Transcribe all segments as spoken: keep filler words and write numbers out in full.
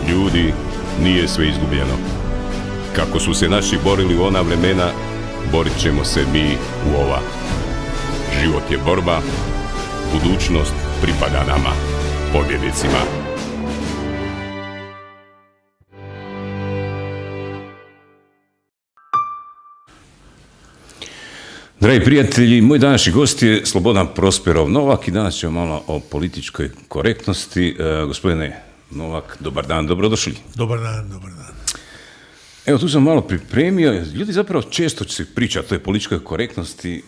Ljudi, nije sve izgubljeno. Kako su se naši borili u ona vremena, borit ćemo se mi u ova. Život je borba, budućnost pripada nama, pobjednicima. Dragi prijatelji, moj današnji gost je Slobodan Prosperov Novak i danas ćemo malo o političkoj korektnosti. E, gospodine Novak, dobar dan, dobrodošli. Dobar dan, dobar dan. Evo, tu sam malo pripremio. Ljudi zapravo često će se pričati o toj političkoj korektnosti,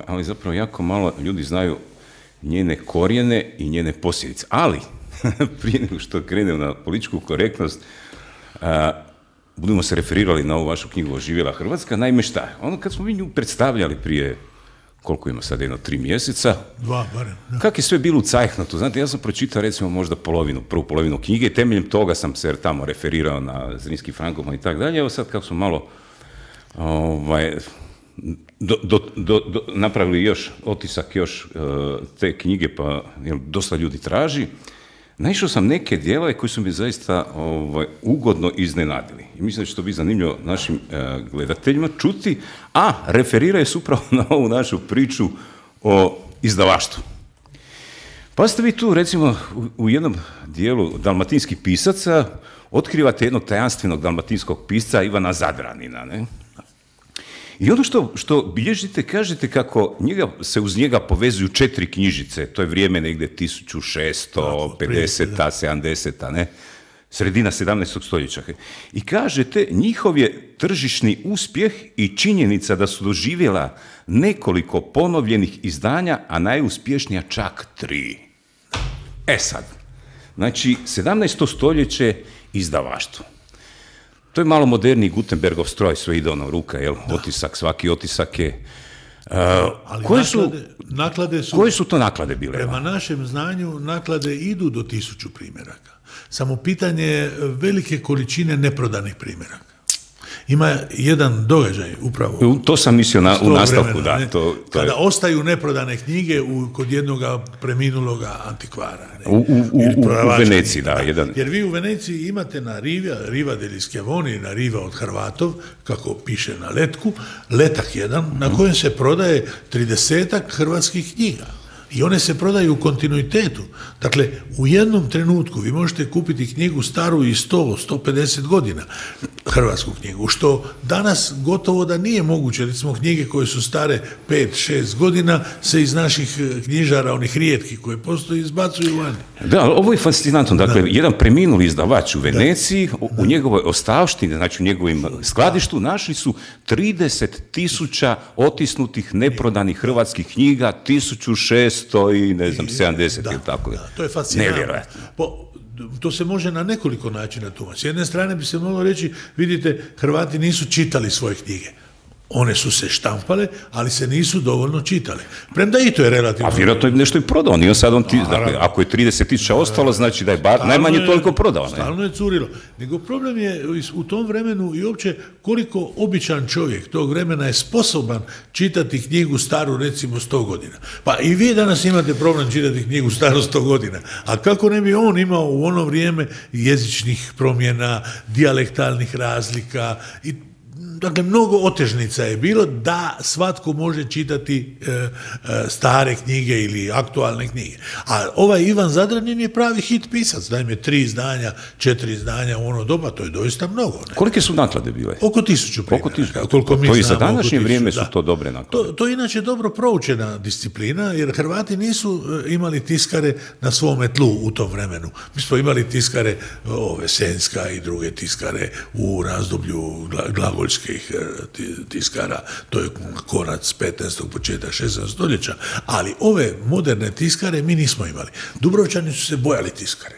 ali zapravo jako malo ljudi znaju njene korijene i njene posljedice. Ali, prije nego što krenemo na političku korektnost, a, budemo se referirali na ovu vašu knjigu Oživjela Hrvatska. Naime, šta? Ono kad smo mi nju predstavljali prije, koliko ima sad, jedno tri mjeseca, Dva, barem. Da. Kak je sve bilo u cajhnotu? Znate, ja sam pročitao recimo možda polovinu, prvu polovinu knjige i temeljem toga sam se tamo referirao na Zrinski Frankoplan i tako dalje. Evo sad kako smo malo ovaj, do, do, do, do, napravili još otisak još uh, te knjige, pa jel, dosta ljudi traži, naišao sam neke dijelove koji su mi zaista ovaj, ugodno iznenadili. I mislim da će to biti zanimljivo našim uh, gledateljima čuti, a referiraju se upravo na ovu našu priču o izdavaštvu. Pa ste vi tu, recimo, u, u jednom dijelu dalmatinskih pisaca otkrivate jednog tajanstvenog dalmatinskog pisca Ivana Zadranina, ne? I ono što, što bilježite, kažete kako njega, se uz njega povezuju četiri knjižice, to je vrijeme negdje tisuću šesto pedeseta, sedamdeseta, ne? Sredina sedamnaestog stoljeća. I kažete, njihov je tržišni uspjeh i činjenica da su doživjela nekoliko ponovljenih izdanja, a najuspješnija čak tri. E sad, znači, sedamnaesto stoljeće izdavaštvo. To je malo moderniji Gutenbergov stroj, sve ide ono ruka, jel? Da. Otisak, svaki otisak je. Uh, Ali koje, naklade, su, naklade su, koje su to naklade bile? Prema našem znanju, naklade idu do tisuću primjeraka. Samo pitanje je velike količine neprodanih primjeraka. Ima jedan događaj upravo. To sam mislio na, u nastavku, vremena, da. To, to kada je... ostaju neprodane knjige u, kod jednoga preminuloga antikvara. Ne? U, u, u, u Veneciji, da, da. Jedan... Jer vi u Veneciji imate na Riva, Riva degli Schiavoni, na Riva od Hrvatov, kako piše na letku, letak jedan, na kojem se prodaje tridesetak hrvatskih knjiga. I one se prodaju u kontinuitetu. Dakle, u jednom trenutku vi možete kupiti knjigu staru i sto do sto pedeset godina, hrvatsku knjigu, što danas gotovo da nije moguće. Recimo, knjige koje su stare pet šest godina se iz naših knjižara, onih rijetkih koje postoji, izbacuju vani. Da, ali ovo je fascinantno. Dakle, da. Jedan preminuli izdavač u Veneciji, da. u njegovoj ostavštini, znači u njegovim skladištu, našli su trideset tisuća otisnutih, neprodanih hrvatskih knjiga, tisuću šesto i ne znam, sedamdeset ili tako. Da, to je fascinantno. Nevjerojatno. Po, to se može na nekoliko načina tumačiti. S jedne strane bi se moglo reći, vidite, Hrvati nisu čitali svoje knjige. One su se štampale, ali se nisu dovoljno čitale. Premda i to je relativno... A vjerojatno je nešto i prodao. Nije sad on ti, dakle, ako je trideset tisuća ostalo, znači da je bar najmanje je, toliko prodao. Ne? Stalno je curilo. Nego problem je u tom vremenu i uopće koliko običan čovjek tog vremena je sposoban čitati knjigu staru recimo sto godina. Pa i vi danas imate problem čitati knjigu staru sto godina. A kako ne bi on imao u ono vrijeme jezičnih promjena, dijalektalnih razlika i dakle, mnogo otežnica je bilo da svatko može čitati e, e, stare knjige ili aktualne knjige. A ovaj Ivan Zadranin je pravi hit pisac. Naime, tri izdanja, četiri izdanja u ono doba, to je doista mnogo. Ne? Kolike su naklade bile? Oko tisuću primjeraka. Oko tisuću. Koliko mi to i za današnje vrijeme su to dobre naklade. To, to je inače dobro proučena disciplina, jer Hrvati nisu imali tiskare na svome tlu u tom vremenu. Mi smo imali tiskare, ove, Senjska i druge tiskare u razdoblju glagoljske tiskara, to je konac petnaestog početak šesnaestog stoljeća, ali ove moderne tiskare mi nismo imali. Dubrovčani su se bojali tiskare.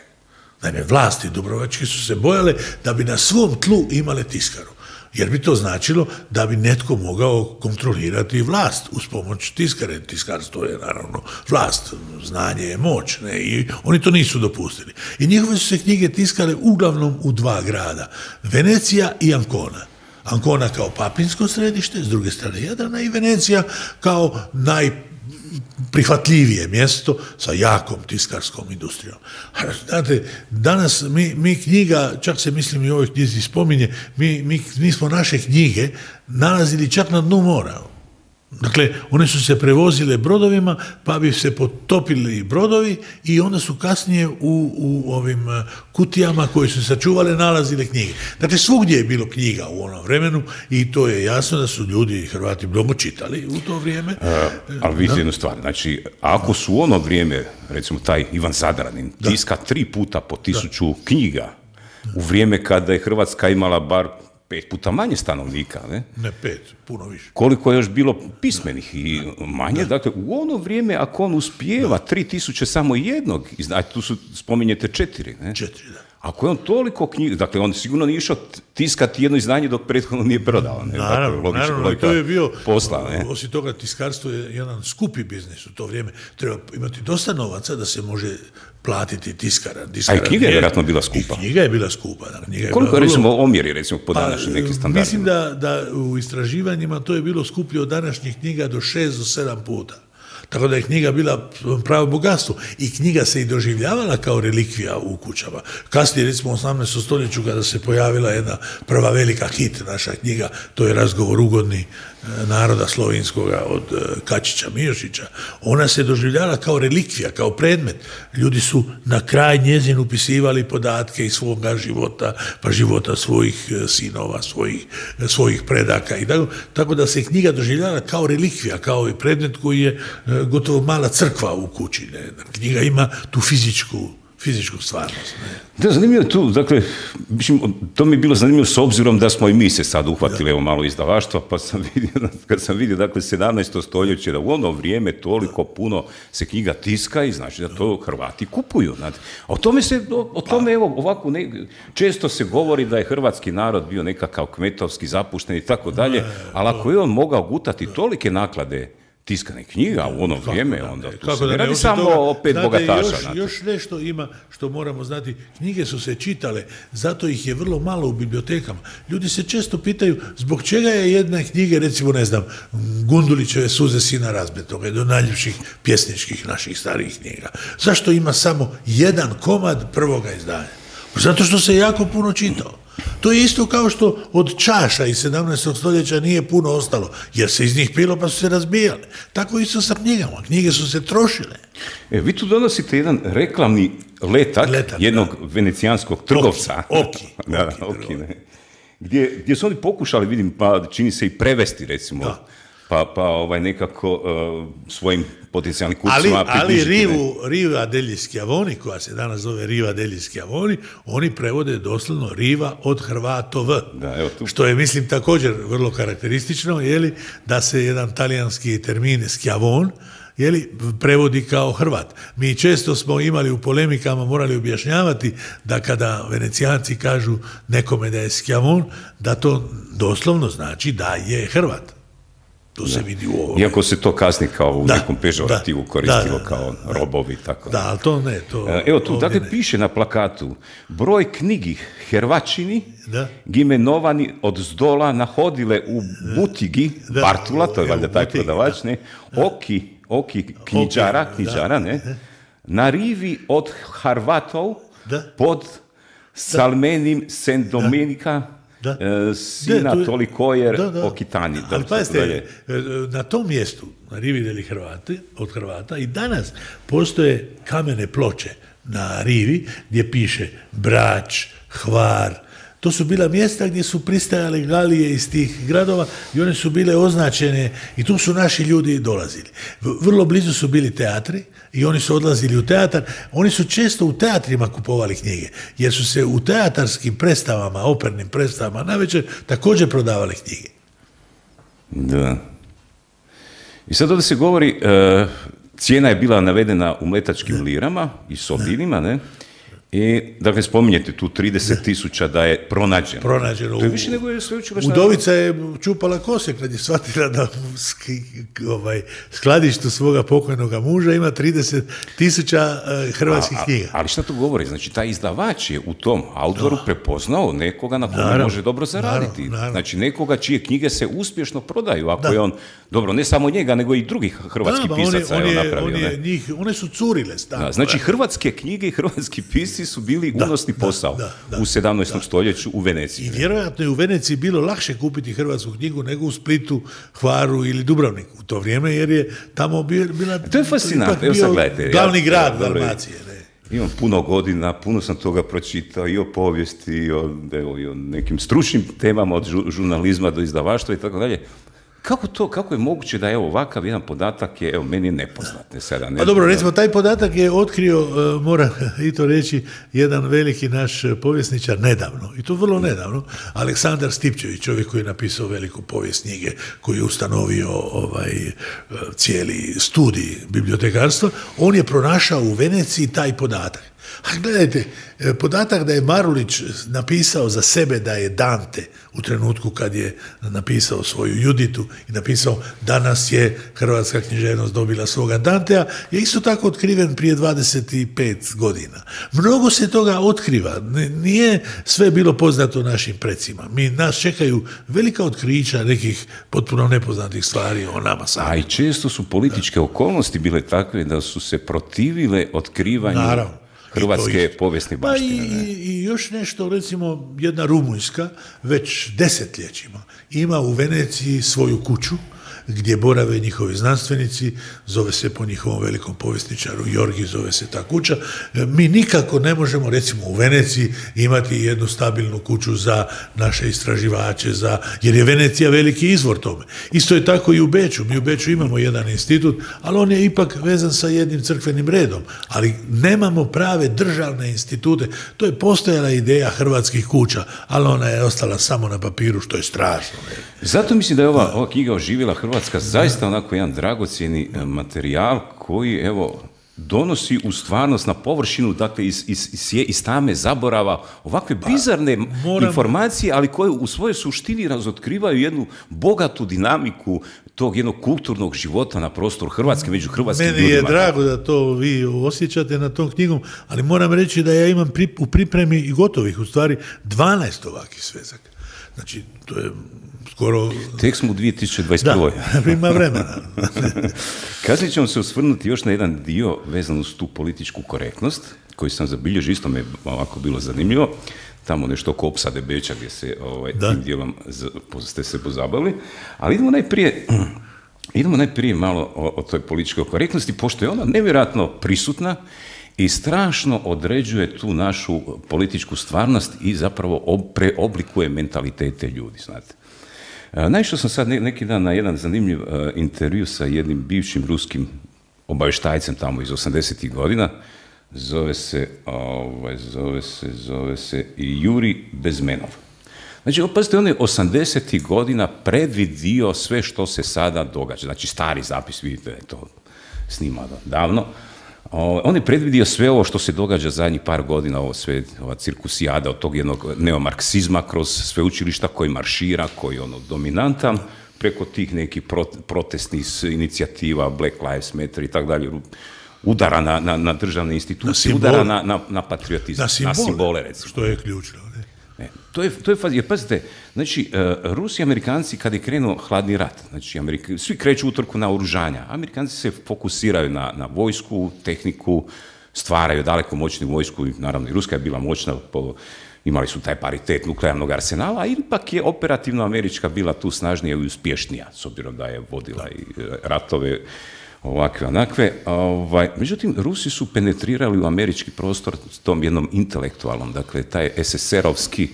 Naime, vlasti dubrovačke su se bojale da bi na svom tlu imale tiskaru. Jer bi to značilo da bi netko mogao kontrolirati vlast uz pomoć tiskare. Tiskarstvo je naravno vlast, znanje je moć, ne? I oni to nisu dopustili. I njihove su se knjige tiskale uglavnom u dva grada, Venecija i Ancona. Ancona kao papinsko središte, s druge strane Jadrana, i Venecija kao naj prihvatljivije mjesto sa jakom tiskarskom industrijom. Znate, danas mi, mi knjiga, čak se mislim i u ovoj knjizi spominje, mi, mi, mi smo naše knjige nalazili čak na dnu mora. Dakle, one su se prevozile brodovima, pa bi se potopili brodovi i onda su kasnije u, u ovim kutijama koje su sačuvale nalazile knjige. Dakle, svugdje je bilo knjiga u onom vremenu i to je jasno da su ljudi, Hrvati, mnogo čitali u to vrijeme. E, ali vidite jednu stvar, znači, ako su u ono vrijeme, recimo taj Ivan Zadranin, tiska tri puta po tisuću da. knjiga, u vrijeme kada je Hrvatska imala bar pet puta manje stanovnika, ne? Ne pet, puno više. Koliko je još bilo pismenih i manje, da. Dakle, u ono vrijeme, ako on uspijeva tri tisuće samo jednog, znači tu su, spominjete četiri, ne? Četiri, da. Ako je on toliko knjiga, dakle, on sigurno nije išao tiskati jedno izdanje dok prethodno nije prodao, ne? Naravno, dakle, logično, naravno, to je bio, posla, ne? Osim toga, tiskarstvo je jedan skupi biznis u to vrijeme. Treba imati dosta novaca da se može platiti tiskara. tiskara A i knjiga je vjerojatno bila skupa. I knjiga je bila skupa. Da, knjiga je Koliko bila recimo vrlo... omjeri, recimo, po današnjim pa, nekim standardima? Mislim da, da u istraživanjima to je bilo skuplje od današnjih knjiga do šest do sedam puta. Tako da je knjiga bila pravo bogatstvo i knjiga se i doživljavala kao relikvija u kućama. Kasnije, recimo u osamnaestom stoljeću, kada se pojavila jedna prva velika hit naša knjiga, to je Razgovor ugodni naroda slovinskoga od Kačića Mijošića, ona se doživljala kao relikvija, kao predmet. Ljudi su na kraj njezin upisivali podatke iz svoga života, pa života svojih sinova, svojih, svojih predaka i tako, tako da se knjiga doživljala kao relikvija, kao i predmet koji je gotovo mala crkva u kući. Ne? Knjiga ima tu fizičku fizičku stvarnost. Ne? Da, zanimljivo je tu, dakle, to mi je bilo zanimljivo s obzirom da smo i mi se sad uhvatili, evo malo izdavaštva, pa sam vidio, kad sam vidio, dakle, sedamnaesto stoljeće, da u ono vrijeme toliko puno se knjiga tiska i znači da to Hrvati kupuju. Znate. A o tome se, o, o tome, evo, ovako, ne, često se govori da je hrvatski narod bio nekakav kmetovski, zapušten i tako dalje, ali ako je on mogao gutati tolike naklade tiskane knjiga u ono vrijeme, da, onda tu kako se ne da radi samo toga, opet znate, bogataša. Još, još nešto ima što moramo znati. Knjige su se čitale, zato ih je vrlo malo u bibliotekama. Ljudi se često pitaju zbog čega je jedna knjiga, recimo, ne znam, Gundulićeve Suze sina razbetoga, do najljepših pjesničkih naših starijih knjiga. Zašto ima samo jedan komad prvoga izdanja? Zato što se jako puno čitao. To je isto kao što od čaša iz sedamnaestog stoljeća nije puno ostalo, jer se iz njih pilo pa su se razbijale. Tako isto sa knjigama. Knjige su se trošile. E, vi tu donosite jedan reklamni letak, letak jednog da. venecijanskog trgovca. Oki. da, oki, oki ne. Gdje, gdje su oni pokušali, vidim, pa čini se i prevesti, recimo, da. pa, pa ovaj, nekako uh, svojim potencijalnim kupcima ali, ali rivu, Riva degli Schiavoni, koja se danas zove Riva degli Schiavoni, oni prevode doslovno Riva od Hrvatov. Da, evo tu. Što je, mislim, također vrlo karakteristično, jeli, da se jedan talijanski termin Schiavon, jeli, prevodi kao Hrvat. Mi često smo imali u polemikama, morali objašnjavati da kada Venecijanci kažu nekome da je Schiavon, da to doslovno znači da je Hrvat. To se da. vidi u ovom. Iako se to kasni kao u da, nekom pežorativu da, koristilo da, kao da, robovi. Tako. Da, ali to ne. To, Evo tu, dakle, ne. piše na plakatu broj knjigi Hrvačini da. gimenovani od zdola nahodile u butigi da. Bartula, to je valjda taj butigi, prodavač, ne, oki, oki knjiđara, knjiđara, ne, na rivi od Harvatov da. pod Salmenim Sendomenika, da. E, sina da, Tolikojer da, da. Okitani. Da, ali pazite, na tom mjestu, na rivi degli Hrvati, od Hrvata, i danas postoje kamene ploče na rivi gdje piše Brač, Hvar. To su bila mjesta gdje su pristajale galije iz tih gradova i one su bile označene i tu su naši ljudi dolazili. Vrlo blizu su bili teatri i oni su odlazili u teatar. Oni su često u teatrima kupovali knjige, jer su se u teatarskim predstavama, opernim predstavama navečer također prodavale knjige. Da. I sad ovdje se govori, uh, cijena je bila navedena u mletačkim lirama i solinima, ne? I, dakle, spominjete tu trideset tisuća da je pronađeno. Pronađeno. To je više nego je sveučilišna... Udovica je čupala kose kad je shvatila da u ski, ovaj, skladištu svoga pokojnog muža ima trideset tisuća uh, hrvatskih a, knjiga. Ali šta to govori? Znači, taj izdavač je u tom autoru prepoznao nekoga na kome može dobro zaraditi. Naravno, naravno. Znači, nekoga čije knjige se uspješno prodaju, ako da. je on, dobro, ne samo njega, nego i drugih hrvatskih da, pisaca on je, on je napravio. On je, njih, one su curile stalno. Da, znači, hrvatske knjige i hrvatski pisci su bili da, unosni posao da, da, u sedamnaestom da. stoljeću u Veneciji. I vjerojatno je u Veneciji bilo lakše kupiti hrvatsku knjigu nego u Splitu, Hvaru ili Dubrovniku u to vrijeme, jer je tamo bila... To je fascinantno, evo sad gledajte. Glavni ja, grad ja, Dalmacije. Ne? Imam puno godina, puno sam toga pročitao i o povijesti, i o, evo, i o nekim stručnim temama od žu, žurnalizma do izdavaštva i tako dalje. Kako to, kako je moguće da je ovakav jedan podatak je, evo, meni je nepoznat. Ne, sada, ne, A dobro, recimo, taj podatak je otkrio, uh, moram i to reći, jedan veliki naš povjesničar nedavno, i to vrlo nedavno, Aleksandar Stipčević, čovjek koji je napisao veliku povijest knjige, koji je ustanovio ovaj, cijeli studij bibliotekarstva, on je pronašao u Veneciji taj podatak. A gledajte, podatak da je Marulić napisao za sebe da je Dante u trenutku kad je napisao svoju Juditu i napisao danas je hrvatska književnost dobila svoga Dantea, je isto tako otkriven prije dvadeset pet godina. Mnogo se toga otkriva, nije sve bilo poznato našim precima. Mi, nas čekaju velika otkrića nekih potpuno nepoznatih stvari o nama sami. A i često su političke okolnosti bile takve da su se protivile otkrivanju Naravno. Hrvatske povijesne baštine. Pa i, i još nešto, recimo, jedna Rumunjska već desetljećima ima u Veneciji svoju kuću gdje borave njihovi znanstvenici, zove se po njihovom velikom povjesničaru Jorgi, zove se ta kuća. Mi nikako ne možemo, recimo, u Veneciji imati jednu stabilnu kuću za naše istraživače, za, jer je Venecija veliki izvor tome. Isto je tako i u Beču. Mi u Beču imamo jedan institut, ali on je ipak vezan sa jednim crkvenim redom. Ali nemamo prave državne institute. To je postojala ideja hrvatskih kuća, ali ona je ostala samo na papiru, što je strašno. Zato mislim da je ova, ova knjiga oživjela Hrvatska zaista onako jedan dragocjeni materijal koji, evo, donosi u stvarnost na površinu, dakle, iz, iz, iz, iz tame zaborava ovakve bizarne Moram... informacije, ali koje u svojoj suštini razotkrivaju jednu bogatu dinamiku tog jednog kulturnog života na prostoru Hrvatske, među hrvatskim Meni ljudima. Meni je drago da to vi osjećate na tom knjigom, ali moram reći da ja imam pri, u pripremi i gotovih, u stvari, dvanaest ovakih svezaka. Znači, to je skoro... Tek smo u dvije tisuće dvadeset prvoj. Da, ima vremena. Kasnije ćemo se osvrnuti još na jedan dio vezan uz tu političku korektnost, koji sam zabilježio, isto me ovako bilo zanimljivo, tamo nešto oko opsade Beča gdje se ovaj, tim dijelom ste se pozabavili, ali idemo najprije, idemo najprije malo o, o toj političkoj korektnosti, pošto je ona nevjerojatno prisutna i strašno određuje tu našu političku stvarnost i zapravo preoblikuje mentalitete ljudi, znate. Naišao sam sad neki dan na jedan zanimljiv intervju sa jednim bivšim ruskim obavještajcem tamo iz osamdesetih godina, zove se, ovaj, zove se, zove se Juri Bezmenov. Znači, pazite, on je osamdesetih godina predvidio sve što se sada događa. Znači, stari zapis, vidite, je to snimano davno. On je predvidio sve ovo što se događa zadnjih par godina, ovo sve, ova cirkusijada od tog jednog neomarksizma kroz sveučilišta koji maršira, koji je ono dominantan, preko tih nekih protestnih inicijativa, Black Lives Matter i tako dalje, udara na, na, na državne institucije, na udara na, na, na patriotizam, na simbole, na simbole, recimo. Što je ključno. Ne? Ne, to je, to je faz, jer pazite, znači, uh, Rusi i Amerikanci kad je krenuo hladni rat, znači, Amerika, svi kreću utrku na oružanja, Amerikanci se fokusiraju na, na vojsku, tehniku, stvaraju daleko moćnu vojsku, naravno i Ruska je bila moćna, po, imali su taj paritet nuklearnog arsenala, a ipak je operativno Američka bila tu snažnija i uspješnija, s obzirom da je vodila i ratove, ovakve, onakve. Ovaj, međutim, Rusi su penetrirali u američki prostor s tom jednom intelektualnom, dakle, taj es es erovski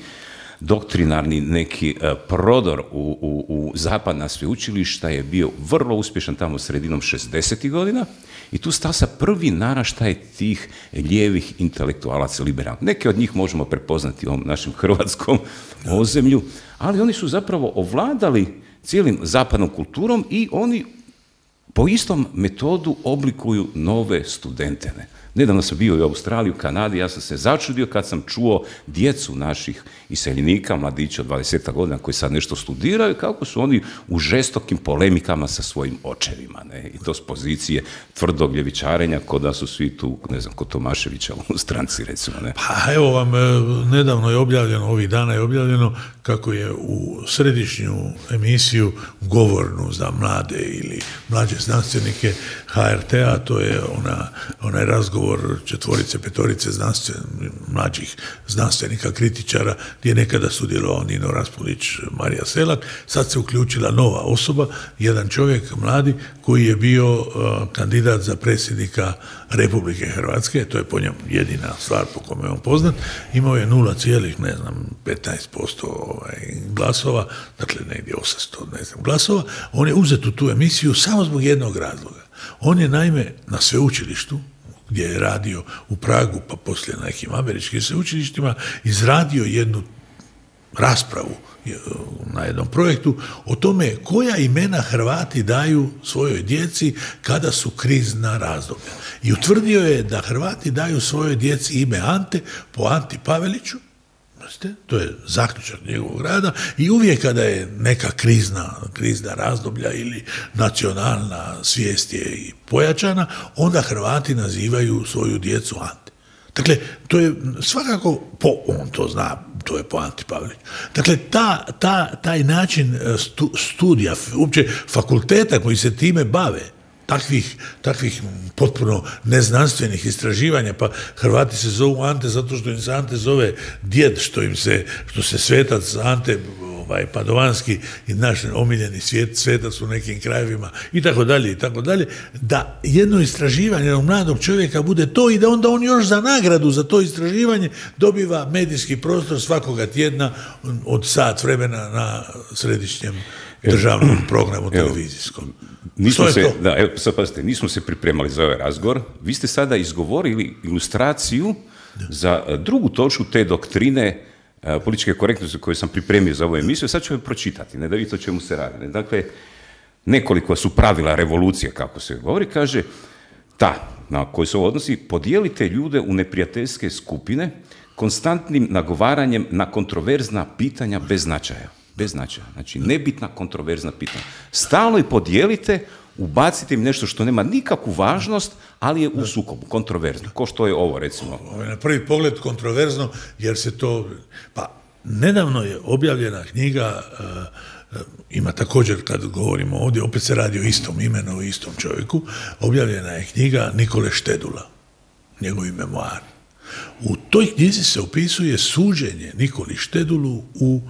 doktrinarni neki uh, prodor u, u, u zapadna sveučilišta je bio vrlo uspješan tamo sredinom šezdesetih godina i tu stasa prvi naraštaj tih lijevih intelektualaca liberalnih. Neke od njih možemo prepoznati u ovom našem hrvatskom ozemlju, ali oni su zapravo ovladali cijelim zapadnom kulturom i oni po istom metodu oblikuju nove studente. Ne? Nedavno sam bio u Australiji, u Kanadi, ja sam se začudio kad sam čuo djecu naših iseljenika, mladića od dvadeset godina koji sad nešto studiraju, kako su oni u žestokim polemikama sa svojim očevima, ne? I to s pozicije tvrdog ljevičarenja, kod da su svi tu, ne znam, kod Tomaševića u stranci, recimo, ne? Pa evo vam, nedavno je objavljeno, ovih dana je objavljeno kako je u središnju emisiju govornu za mlade ili mlađe znanstvenike ha er te a, to je ona, onaj razgovor četvorice, petorice znanstven, mlađih znanstvenika, kritičara, gdje je nekada sudjelovao Nino Raspudić, Marija Selak, sad se uključila nova osoba, jedan čovjek mladi koji je bio uh, kandidat za predsjednika Republike Hrvatske, to je po njemu jedina stvar po kome je on poznat, imao je nula cijelih petnaest posto ovaj, glasova, dakle negdje osamsto ne znam, glasova, on je uzet u tu emisiju samo zbog jednog razloga. On je naime na sveučilištu, gdje je radio u Pragu, pa poslije na nekim američkim sveučilištima, izradio jednu raspravu na jednom projektu o tome koja imena Hrvati daju svojoj djeci kada su krizna razdoblja. I utvrdio je da Hrvati daju svojoj djeci ime Ante po Anti Paveliću, to je zaključak njegovog rada, i uvijek kada je neka krizna, krizna razdoblja ili nacionalna svijest je i pojačana, onda Hrvati nazivaju svoju djecu Ante. Dakle, to je svakako, po, on to zna, to je po Anti Paveliću. Dakle, ta, ta, taj način stu, studija, uopće fakulteta koji se time bave, takvih, takvih potpuno neznanstvenih istraživanja, pa Hrvati se zovu Ante zato što im se Ante zove djed, što im se, što se svetac Ante ovaj, Padovanski i naš omiljeni svijet, svetac u nekim krajevima i tako dalje i tako dalje, da jedno istraživanje jednog mladog čovjeka bude to i da onda on još za nagradu za to istraživanje dobiva medijski prostor svakoga tjedna od sat vremena na središnjem državnom programu televizijskom. Nismo se, da, evo, sad pazite, nismo se pripremali za ovaj razgovor. Vi ste sada izgovorili ilustraciju za drugu točku te doktrine uh, političke korektnosti koju sam pripremio za ovu emisiju. Sad ću je pročitati, ne da vidite o čemu se radi. Ne? Dakle, nekoliko su pravila revolucije, kako se govori, kaže, ta na koju se ovo odnosi, podijelite ljude u neprijateljske skupine konstantnim nagovaranjem na kontroverzna pitanja bez značaja. Bez značaja. Znači, nebitna kontroverzna pitanja. Stalno ih podijelite, ubacite im nešto što nema nikakvu važnost, ali je u sukobu, kontroverzno. Ko što je ovo, recimo? Ovo je na prvi pogled kontroverzno, jer se to... Pa, nedavno je objavljena knjiga, uh, ima također, kad govorimo ovdje, opet se radi o istom imenu, o istom čovjeku, objavljena je knjiga Nikole Štedula, njegovi memoari. U toj knjizi se opisuje suđenje Nikoli Štedulu u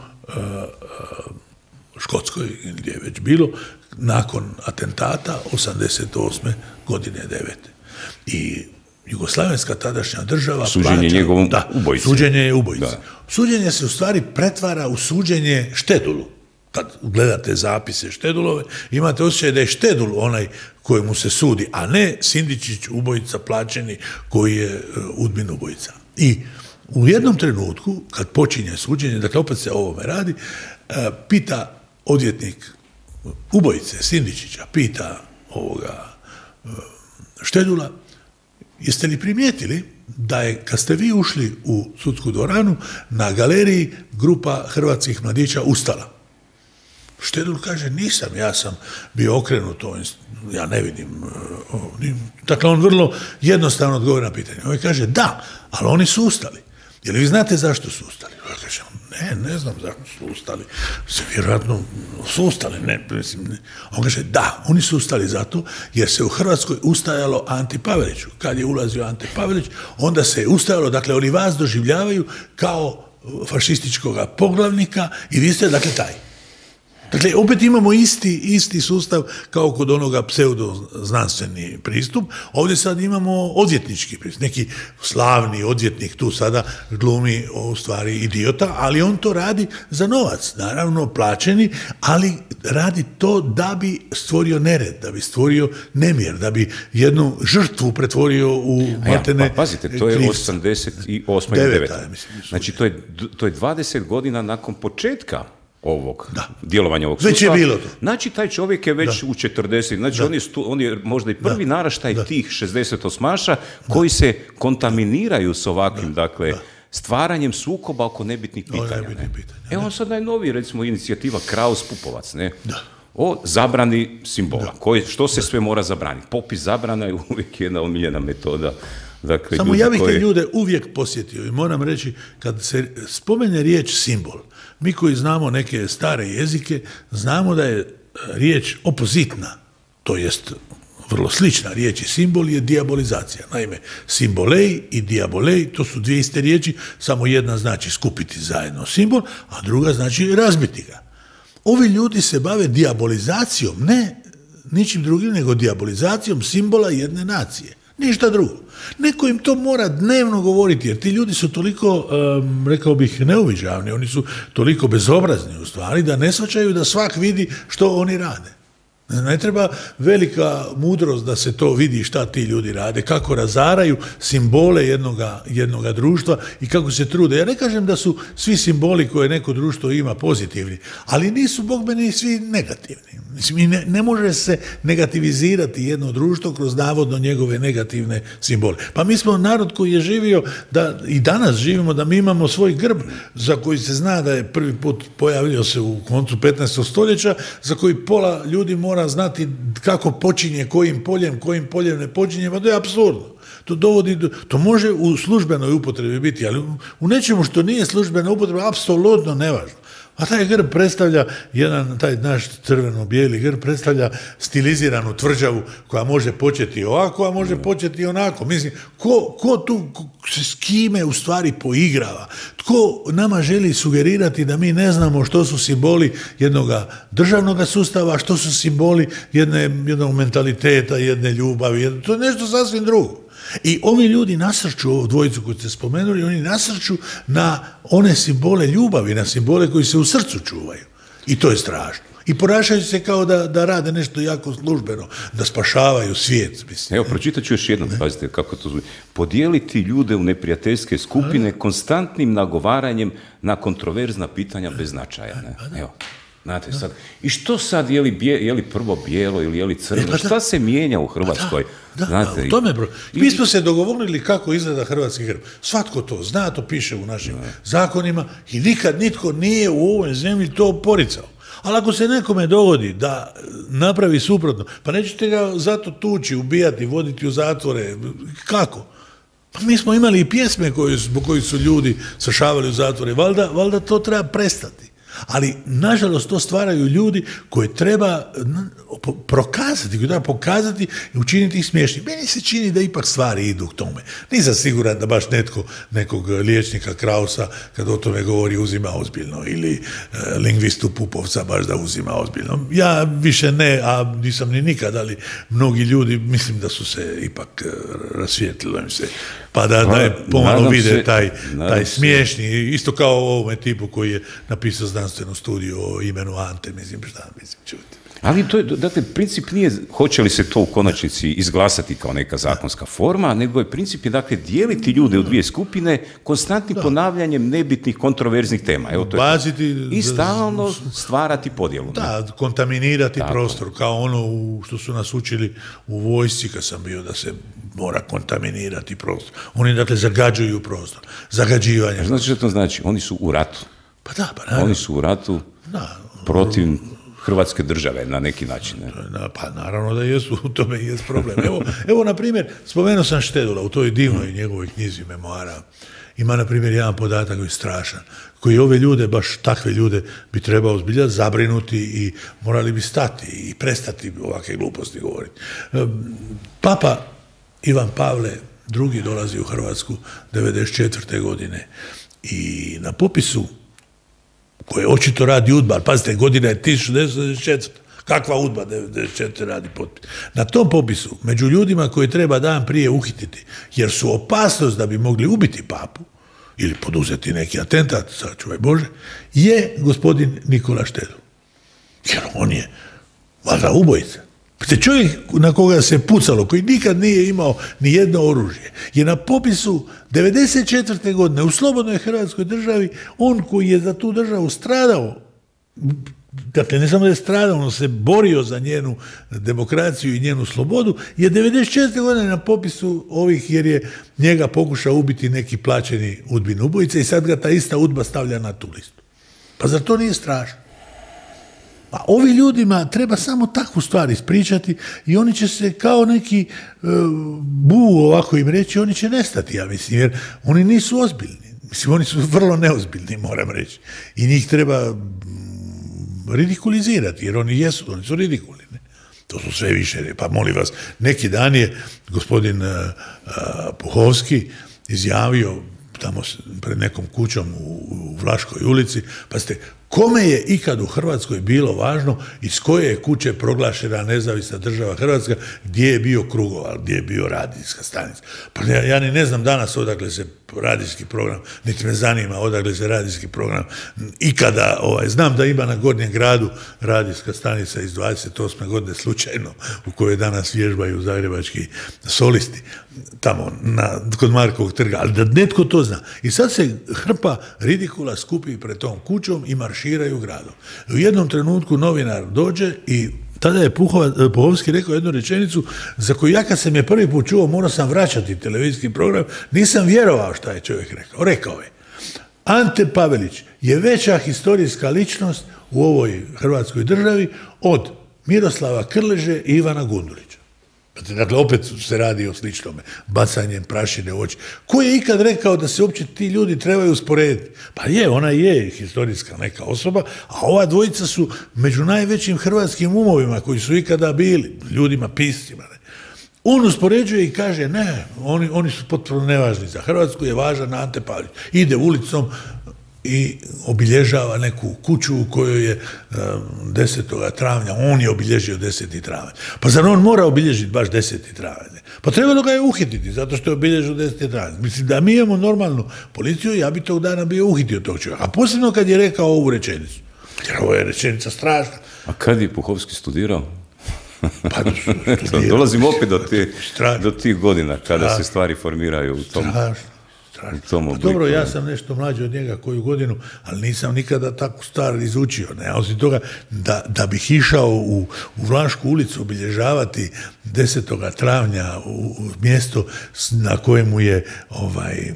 Škotskoj, gdje je već bilo, nakon atentata osamdeset osme godine devete. I jugoslavenska tadašnja država suđenje plaća, njegovom da, ubojici. Suđenje je ubojici. Da. Suđenje se u stvari pretvara u suđenje Štedulu. Kad gledate zapise Štedulove, imate osjećaj da je Štedul onaj kojemu se sudi, a ne Sindičić ubojica plaćeni koji je Udbin ubojica. I u jednom trenutku, kad počinje suđenje, dakle opet se o ovome radi, pita odvjetnik ubojice Sindičića, pita ovoga Štedula, jeste li primijetili da je, kad ste vi ušli u sudsku dvoranu, na galeriji grupa hrvatskih mladića ustala? Štedul kaže, nisam, ja sam bio okrenut, ja ne vidim. Dakle, on vrlo jednostavno odgovori na pitanje. On kaže, da, ali oni su ustali. Je li vi znate zašto su ustali? Ja kažem, ne, ne znam zašto su ustali. Se vjerojatno su ustali, ne, mislim, ne. On kaže, da, oni su ustali zato jer se u Hrvatskoj ustajalo Anti Paveliću. Kad je ulazio Ante Pavelić, onda se je ustajalo, dakle, oni vas doživljavaju kao fašističkog poglavnika i vi ste, dakle, taj. Dakle, opet imamo isti, isti sustav kao kod onoga pseudoznanstveni pristup. Ovdje sad imamo odvjetnički pristup. Neki slavni odvjetnik tu sada glumi u stvari idiota, ali on to radi za novac, naravno plaćeni, ali radi to da bi stvorio nered, da bi stvorio nemir, da bi jednu žrtvu pretvorio u matene. Ja, pa pazite, to je osamdeset osma i deveta. Znači, to je, to je dvadeset godina nakon početka ovog djelovanja ovog već sustava. Je bilo to. Znači, taj čovjek je već da. u četrdeset, znači on je, stu, on je možda i prvi da. naraštaj da. tih šezdesetosmaša koji da. se kontaminiraju s ovakvim, da. dakle, da. stvaranjem sukoba oko nebitnih pitanja. Nebitnih ne? pitanja Evo on sad najnoviji, recimo, inicijativa Kraus-Pupovac, ne? Da. o zabrani simbola. Koji, što se da. sve mora zabraniti? Popis zabrana je uvijek jedna omiljena metoda. Dakle, Samo ja bih koje... te ljude uvijek posjetio i moram reći, kad se spomene riječ simbol, mi koji znamo neke stare jezike, znamo da je riječ opozitna, to jest vrlo slična riječ i simbol je dijabolizacija. Naime, simbolej i diabolej, to su dvije iste riječi, samo jedna znači skupiti zajedno simbol, a druga znači razbiti ga. Ovi ljudi se bave dijabolizacijom, ne ničim drugim, nego dijabolizacijom simbola jedne nacije. Ništa drugo. Neko im to mora dnevno govoriti, jer ti ljudi su toliko, um, rekao bih, neuviđavni, oni su toliko bezobrazni u stvari, da ne shvaćaju da svak vidi što oni rade. Ne treba velika mudrost da se to vidi šta ti ljudi rade, kako razaraju simbole jednoga, jednoga društva i kako se trude. Ja ne kažem da su svi simboli koje neko društvo ima pozitivni, ali nisu, bog meni, svi negativni. Mislim, ne, ne može se negativizirati jedno društvo kroz navodno njegove negativne simbole. Pa mi smo narod koji je živio, da i danas živimo, da mi imamo svoj grb za koji se zna da je prvi put pojavio se u koncu petnaestog stoljeća, za koji pola ljudi mora znati kako počinje, kojim poljem, kojim poljem ne počinje, pa to je apsurdno. To dovodi do, to može u službenoj upotrebi biti, ali u nečemu što nije službena upotreba, apsolutno nevažno. A taj grb predstavlja jedan, taj naš crveno-bijeli grb predstavlja stiliziranu tvrđavu koja može početi ovako, a može početi onako. Mislim, ko, ko tu ko, s kime u stvari poigrava? Tko nama želi sugerirati da mi ne znamo što su simboli jednog državnog sustava, što su simboli jedne, jednog mentaliteta, jedne ljubavi, jedne, to je nešto sasvim drugo. I ovi ljudi nasrču, ovu dvojicu koju ste spomenuli, oni nasrču na one simbole ljubavi, na simbole koji se u srcu čuvaju. I to je strašno. I ponašaju se kao da, da rade nešto jako službeno, da spašavaju svijet. Mislim. Evo, pročitat ću još jednom, pazite kako to zove. Podijeliti ljude u neprijateljske skupine konstantnim nagovaranjem na kontroverzna pitanja bez značaja. Ne? Evo. Znate, sad, i što sad, je li, bije, je li prvo bijelo ili je li crno, e, pa šta se mijenja u Hrvatskoj? Da, znate, da, u tome, bro. Mi smo se dogovorili kako izgleda hrvatski grb. Svatko to zna, to piše u našim da. zakonima i nikad nitko nije u ovoj zemlji to poricao. Ali ako se nekome dogodi da napravi suprotno, pa nećete ga zato tući, ubijati, voditi u zatvore, kako? Pa mi smo imali i pjesme koje, zbog kojih su ljudi svršavali u zatvore, valjda, valjda to treba prestati. Ali, nažalost, to stvaraju ljudi koje treba prokazati, koje treba pokazati i učiniti ih smiješnim. Meni se čini da ipak stvari idu k tome. Nisam siguran da baš netko, nekog liječnika Krausa, kad o tome govori, uzima ozbiljno, ili e, lingvistu Pupovca baš da uzima ozbiljno. Ja više ne, a nisam ni nikad, ali mnogi ljudi, mislim da su se ipak e, rasvijetlilo im se, pa da, da je pomalo vide se, taj, taj smiješni, isto kao o ovome tipu koji je napisao znanstvenu studiju o imenu Ante, mislim, šta, mislim, čuti. Ali to je, dakle, princip nije hoće li se to u konačnici izglasati kao neka zakonska forma, nego je princip je, dakle, dijeliti ljude u dvije skupine konstantnim da. ponavljanjem nebitnih kontroverznih tema. Evo, to Baziti, je to. I stalno stvarati podjelu. Da, ne? kontaminirati Tako. prostor, kao ono u, što su nas učili u vojsci kad sam bio, da se mora kontaminirati prostor. Oni, dakle, zagađuju prostor. Zagađivanje. Znači što to znači? Oni su u ratu. Pa da, pa naravno. Oni su u ratu da. protiv Hrvatske države, na neki način. Ne? Pa naravno da jesu, u tome i jest problem. Evo, evo na primjer, spomenuo sam Štedula u toj divnoj njegovoj knjizi memoara. Ima, na primjer, jedan podatak koji je strašan, koji ove ljude, baš takve ljude, bi trebao zbilja zabrinuti i morali bi stati i prestati ovakve gluposti govoriti. Papa Ivan Pavle drugi dolazi u Hrvatsku devedeset četvrte godine i na popisu koje očito radi UDBA, ali pazite, godina je tisuću devetsto devedeset četvrta. Kakva UDBA devedeset četvrte radi potpis? Na tom popisu, među ljudima koji treba dan prije uhititi, jer su opasnost da bi mogli ubiti papu, ili poduzeti neki atentat, sačuvaj Bože, je gospodin Nikola Štedl. Jer on je, valjda, ubojica. Te čovjek na koga se pucalo, koji nikad nije imao ni jedno oružje, je na popisu devedeset četvrte godine u slobodnoj Hrvatskoj državi, on koji je za tu državu stradao dakle, ne samo da je stradao, on se borio za njenu demokraciju i njenu slobodu, je devedeset četvrte godine na popisu ovih, jer je njega pokušao ubiti neki plaćeni udbin ubojica i sad ga ta ista udba stavlja na tu listu. Pa zar to nije strašno? A ovi ljudima treba samo takvu stvar ispričati i oni će se kao neki uh, bu ovako im reći, oni će nestati, ja mislim, jer oni nisu ozbiljni. Mislim, oni su vrlo neozbiljni, moram reći. I njih treba ridikulizirati, jer oni jesu, oni su ridikulni. Ne? To su sve više. Pa molim vas, neki dan je gospodin uh, uh, Puhovski izjavio tamo pred nekom kućom u, u Vlaškoj ulici, pa ste, kome je ikad u Hrvatskoj bilo važno iz koje je kuće proglašena nezavisna država Hrvatska, gdje je bio Krugoval, gdje je bio radijska stanica. Pa ja, ja ni ne znam danas odakle se radijski program, niti me zanima odakle se radijski program ikada, ovaj, znam da ima na Gornjem gradu radijska stanica iz dvadeset osme godine slučajno, u kojoj danas vježbaju zagrebački solisti, tamo na, kod Markovog trga, ali da netko to zna. I sad se hrpa ridikula skupi pred tom kućom i marširaju gradom. U jednom trenutku novinar dođe i tada je Puhova, Puhovski rekao jednu rečenicu za koju ja kad sam je prvi put čuo, morao sam vraćati televizijski program, nisam vjerovao šta je čovjek rekao. Rekao je, Ante Pavelić je veća historijska ličnost u ovoj Hrvatskoj državi od Miroslava Krleže i Ivana Gundulića. Dakle, opet se radi o sličnome, bacanjem prašine u oči. Ko je ikad rekao da se uopće ti ljudi trebaju usporediti? Pa je, ona je historijska neka osoba, a ova dvojica su među najvećim hrvatskim umovima koji su ikada bili, ljudima, piscima. Ne? On uspoređuje i kaže, ne, oni, oni su potpuno nevažni za Hrvatsku, je važan Ante Pavelić. Ide ulicom i obilježava neku kuću u kojoj je desetog travnja, on je obilježio deseti travanj. Pa zar on mora obilježiti baš deseti travanj? Pa trebalo ga je uhititi, zato što je obilježio deseti travanj. Mislim, da mi imamo normalnu policiju, ja bi tog dana bio uhitio tog čovjeka. A posebno kad je rekao ovu rečenicu. Jer ovo je rečenica strašna. A kad je Puhovski studirao? Pa dolazim opet do, te, do tih godina kada strašno se stvari formiraju u tom... Strašno. Pa dobro, ja sam nešto mlađi od njega koju godinu, ali nisam nikada takvu stvar izučio. Ne? Osim toga, da, da bih išao u, u Vlašku ulicu obilježavati desetog travnja u, u mjesto na kojemu je ovaj,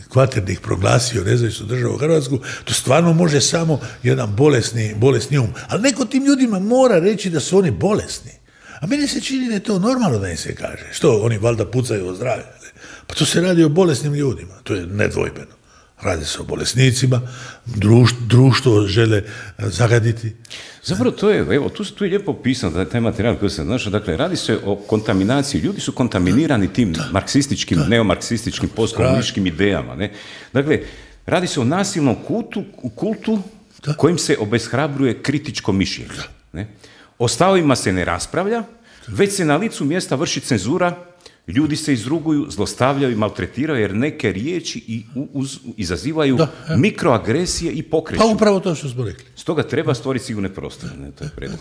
Kvaternik proglasio nezavisnu državu Hrvatsku, to stvarno može samo jedan bolesni, bolesni um. Ali neko tim ljudima mora reći da su oni bolesni. A meni se čini da je to normalno da im se kaže. Što, oni valjda pucaju o zdravlje? Pa to se radi o bolesnim ljudima, to je nedvojbeno. Radi se o bolesnicima, društvo, društvo žele zagaditi. Zapravo to je, evo, tu, tu je lijepo opisano, da je taj materijal koji sam našao, dakle, radi se o kontaminaciji, ljudi su kontaminirani tim da, marksističkim, da, neomarksističkim, postkomunističkim idejama, ne? Dakle, radi se o nasilnom kultu, kultu da, kojim se obeshrabruje kritičko mišljenje, ne? O stavovima se ne raspravlja, već se na licu mjesta vrši cenzura. Ljudi se izruguju, zlostavljaju i maltretiraju jer neke riječi i uz, izazivaju da, mikroagresije i pokreću. Pa upravo to što smo rekli. Stoga treba stvoriti sigurne prostore. Ne, to je predlog.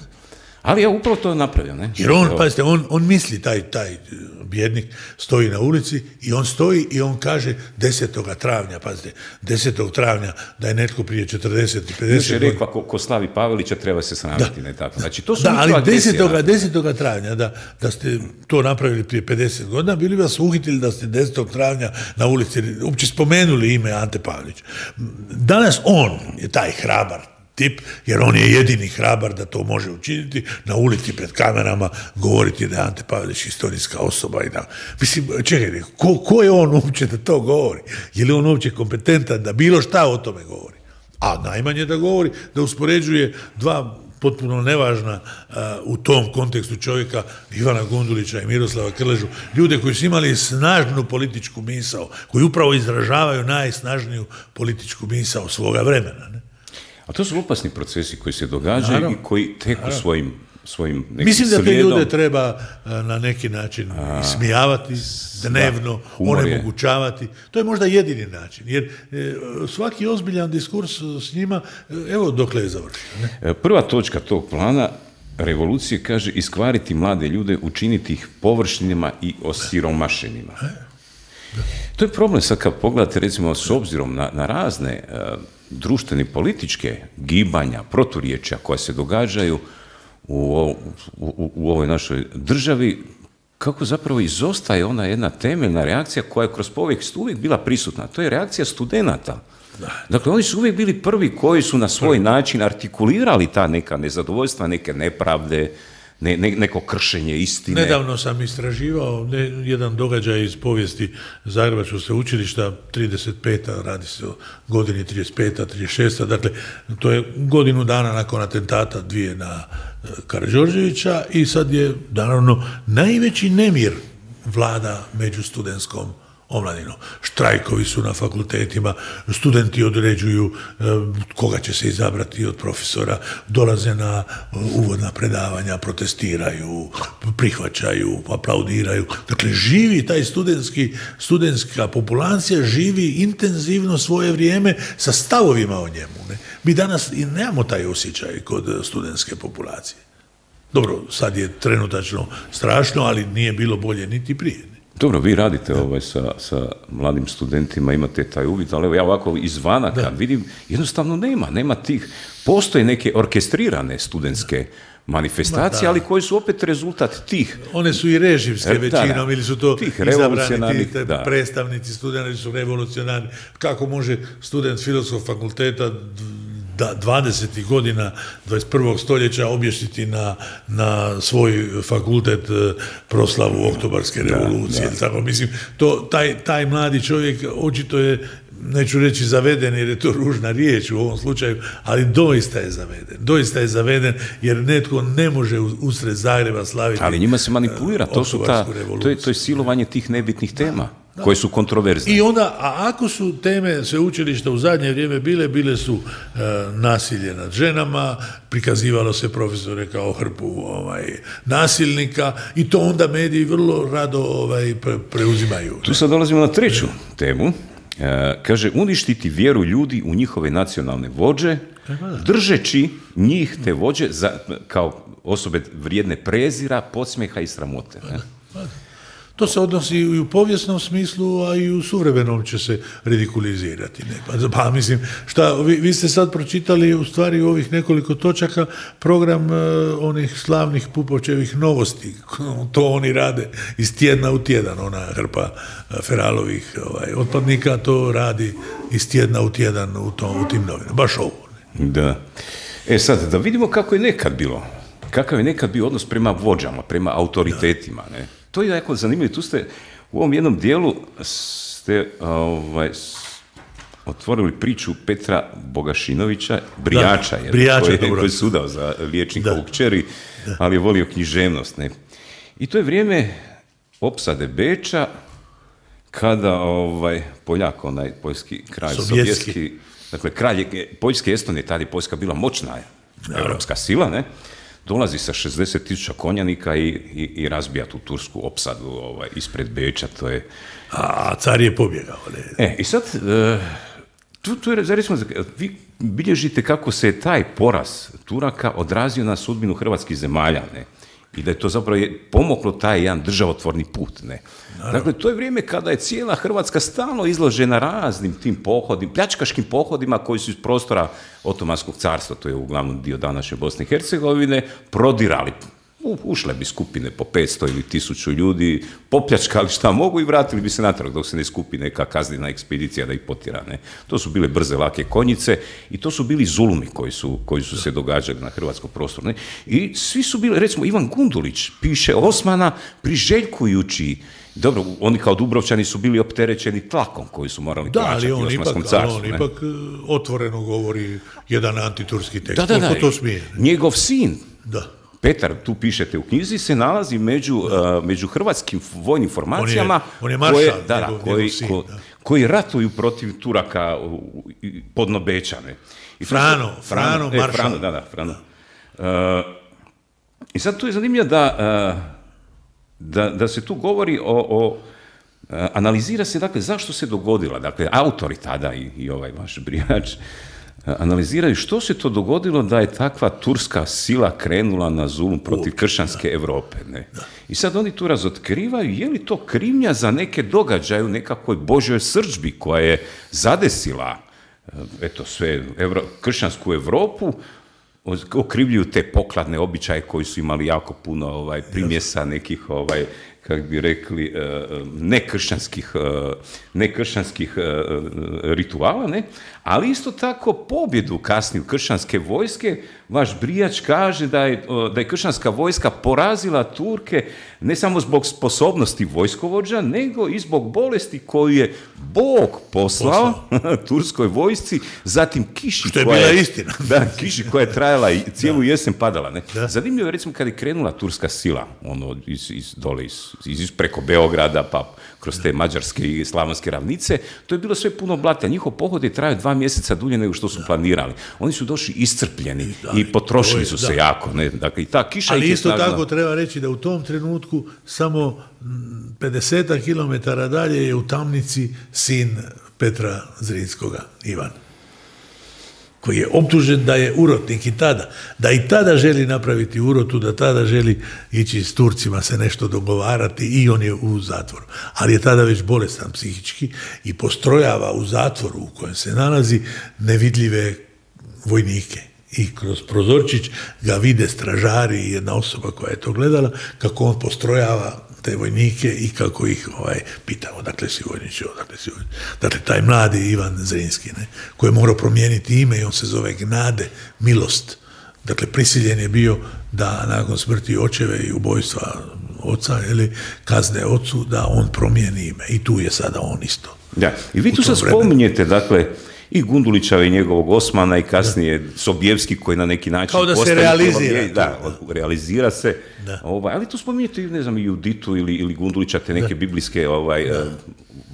Ali ja upravo to napravio. Ne? Jer on, pazite, on, on misli, taj, taj bjednik stoji na ulici i on stoji i on kaže desetog travnja, pazite, desetog travnja da je netko prije četrdeset i pedeset godina. Još je rekla, ko, ko slavi Pavelića treba se sramiti, ne tako. Znači, to su da, ali desetog travnja, da, da ste to napravili prije pedeset godina, bili vas uhitili da ste desetog travnja na ulici, uopće spomenuli ime Ante Pavelić. Danas on je taj hrabar tip, jer on je jedini hrabar da to može učiniti, na ulici pred kamerama govoriti da je Ante Pavelić historijska osoba i da... Mislim, čekajte, ko, ko je on uopće da to govori? Je li on uopće kompetentan da bilo šta o tome govori? A najmanje da govori, da uspoređuje dva potpuno nevažna uh, u tom kontekstu čovjeka, Ivana Gundulića i Miroslava Krležu, ljude koji su imali snažnu političku misao, koji upravo izražavaju najsnažniju političku misao svoga vremena, ne? A to su opasni procesi koji se događaju naravno, i koji teku naravno. svojim, svojim nekim Mislim da te slijedom. ljude treba na neki način A, ismijavati, dnevno, onemogućavati. To je možda jedini način, jer e, svaki ozbiljan diskurs s njima, evo dokle je završio. Ne? Prva točka tog plana revolucije kaže iskvariti mlade ljude, učiniti ih površinima i osiromašenima. To je problem sad kad pogledate, recimo, s obzirom na, na razne uh, društvene političke gibanja, proturječja koja se događaju u, u, u, u ovoj našoj državi, kako zapravo izostaje ona jedna temeljna reakcija koja je kroz povijest uvijek bila prisutna. To je reakcija studenata. Dakle, oni su uvijek bili prvi koji su na svoj način artikulirali ta neka nezadovoljstva, neke nepravde, ne, ne, neko kršenje istine. Nedavno sam istraživao ne, jedan događaj iz povijesti Zagrebačkog sveučilišta, trideset peta, radi se o godini trideset peta, trideset šesta, dakle, to je godinu dana nakon atentata dvije na Karađorđevića i sad je, naravno, najveći nemir vlada među studentskom omladinom. Štrajkovi su na fakultetima, studenti određuju e, koga će se izabrati od profesora, dolaze na e, uvodna predavanja, protestiraju, prihvaćaju, aplaudiraju. Dakle, živi taj studentski, studentska populacija, živi intenzivno svoje vrijeme sa stavovima o njemu. Ne? Mi danas i nemamo taj osjećaj kod studentske populacije. Dobro, sad je trenutačno strašno, ali nije bilo bolje niti prije. Dobro, vi radite ovaj, sa, sa mladim studentima, imate taj uvid, ali evo ja ovako izvana kad da. vidim, jednostavno nema, nema tih, postoje neke orkestrirane studentske manifestacije, ali koji su opet rezultat tih. One su i režimske većinom, da, da. ili su to izabrani ti da. predstavnici studenti su revolucionarni. Kako može student Filozofskog fakulteta da dvadesetih godina dvadeset prvog stoljeća objesiti na, na svoj fakultet proslavu Oktobarske revolucije. Da, da. Tako, mislim, to, taj, taj mladi čovjek očito je, neću reći zaveden jer je to ružna riječ u ovom slučaju, ali doista je zaveden. Doista je zaveden jer netko ne može usred Zagreba slaviti. Ali njima se manipulira, to, su ta, to, je, to je silovanje tih nebitnih tema. Da. Koje su kontroverzne. I onda, a ako su teme sveučilišta u zadnje vrijeme bile, bile su e, nasilje nad ženama, prikazivalo se profesore kao hrpu ovaj, nasilnika i to onda mediji vrlo rado ovaj, pre, preuzimaju. Tu sad dolazimo na treću temu. E, kaže, uništiti vjeru ljudi u njihove nacionalne vođe, držeći njih te vođe za, kao osobe vrijedne prezira, podsmjeha i sramote. Ne? To se odnosi i u povijesnom smislu, a i u suvremenom će se ridikulizirati. Ne? Pa mislim, šta, vi, vi ste sad pročitali u stvari u ovih nekoliko točaka program uh, onih slavnih Pupovčevih novosti. To oni rade iz tjedna u tjedan. Ona hrpa uh, Feralovih ovaj, otpadnika to radi iz tjedna u tjedan u, tom, u tim novinama. Baš ovo. Ne? Da. E sad, da vidimo kako je nekad bilo. Kakav je nekad bio odnos prema vođama, prema autoritetima, ne? To je jako zanimljivo. Tu ste u ovom jednom dijelu ste ovaj, otvorili priču Petra Bogašinovića, Brijača, da, Brijača koji, koji je sudao za liječnika da. u kćeri, da. ali je volio književnost. Ne? I to je vrijeme opsade Beča, kada ovaj, Poljak, onaj poljski kralj, sovjetski, sovjetski dakle, kralj Poljske Estonije, tada je Poljska bila moćna evropska sila, ne? Dolazi sa šezdeset tisuća konjanika i, i, i razbija tu tursku opsadu ovaj, ispred Beča, to je... A car je pobjegao. Ne? E, i sad, uh, tu, tu je, recimo, vi bilježite kako se je taj poraz Turaka odrazio na sudbinu hrvatskih zemalja, ne? I da je to zapravo je pomoglo taj jedan državotvorni put, ne? Naravno. Dakle, to je vrijeme kada je cijela Hrvatska stalno izložena raznim tim pohodima, pljačkaškim pohodima koji su iz prostora Otomanskog carstva, to je uglavnom dio današnje Bosne i Hercegovine, prodirali. U, ušle bi skupine po petsto ili tisuću ljudi, popljačkali šta mogu i vratili bi se natrag dok se ne skupi neka kaznena ekspedicija da ih potjera. Ne? To su bile brze, lake konjice i to su bili zulumi koji su, koji su se događali na hrvatskom prostoru. Ne? I svi su bili, recimo Ivan Gundulić piše Osmana priželjkujući. Dobro, oni kao Dubrovčani su bili opterećeni tlakom koji su morali da, plaćati ali on Osmanskom ipak, carstvu. Ali on ipak otvoreno govori jedan antiturski tekst. Da, da, da. To smije. Njegov sin, da. Petar, tu pišete u knjizi, se nalazi među, uh, među hrvatskim vojnim formacijama on je, on je maršal, koje, da, njegov, koji, njegov sin, ko, da. koji ratuju protiv Turaka podno Beča. Ne? I Frano, to, Frano, Frano, e, maršal. Frano, da, da, Frano. Uh, I sad tu je zanimljivo da, uh, da, da se tu govori o, o analizira se, dakle, zašto se dogodila, dakle, autori tada i, i ovaj vaš Brijač analiziraju što se to dogodilo da je takva turska sila krenula na zulum protiv kršćanske Europe. Ne? I sad oni tu razotkrivaju je li to krivnja za neke događaje u nekakvoj Božjoj srdžbi koja je zadesila eto, sve, evro, kršćansku Europu, okrivljuju te pokladne običaje koji su imali jako puno ovaj, primjesa nekih, ovaj, kako bi rekli, nekršćanskih, nekršćanskih rituala, ne? Ali isto tako pobjedu kasniju kršćanske vojske, vaš Brijač kaže da je, da je kršćanska vojska porazila Turke ne samo zbog sposobnosti vojskovođa, nego i zbog bolesti koju je Bog poslao, poslao. turskoj vojsci, zatim kiši što je koja bila istina. Da, kiši koja je trajala i cijelu da. jesen padala. Ne? Zanimljivo je, recimo, kad je krenula turska sila, ono, iz, iz, dole, iz, iz, preko Beograda, pa kroz te mađarske i slavonske ravnice, to je bilo sve puno blata. Njihov pohod je trajao dva mjeseca dulje nego što su da. planirali. Oni su došli iscrpljeni i, da, i potrošili je, su se da. jako. Ne? Dakle, i ta kiša ali isto snažna. Tako treba reći da u tom trenutku samo pedeset kilometara dalje je u tamnici sin Petra Zrinskoga, Ivan, koji je optužen da je urotnik i tada, da i tada želi napraviti urotu, da tada želi ići s Turcima se nešto dogovarati i on je u zatvoru. Ali je tada već bolestan psihički i postrojava u zatvoru u kojem se nalazi nevidljive vojnike. I kroz prozorčić ga vide stražari i jedna osoba koja je to gledala, kako on postrojava te vojnike i kako ih ovaj, pita odakle si vojniče, odakle si vojniče. Dakle, taj mladi Ivan Zrinski, ne, koji je morao promijeniti ime i on se zove Gnade, milost. Dakle, prisiljen je bio da nakon smrti očeve i ubojstva oca, ili kazne ocu, da on promijeni ime. I tu je sada on isto. Da, i vi tu sad spominjete, dakle, i Gundulića i njegovog Osmana i kasnije da. Sobijevski koji na neki način kao da se realizira. Da, realizira se. Ovaj, ali tu spominjete, ne znam, i Juditu ili, ili Gundulića, te neke da. biblijske ovaj, uh,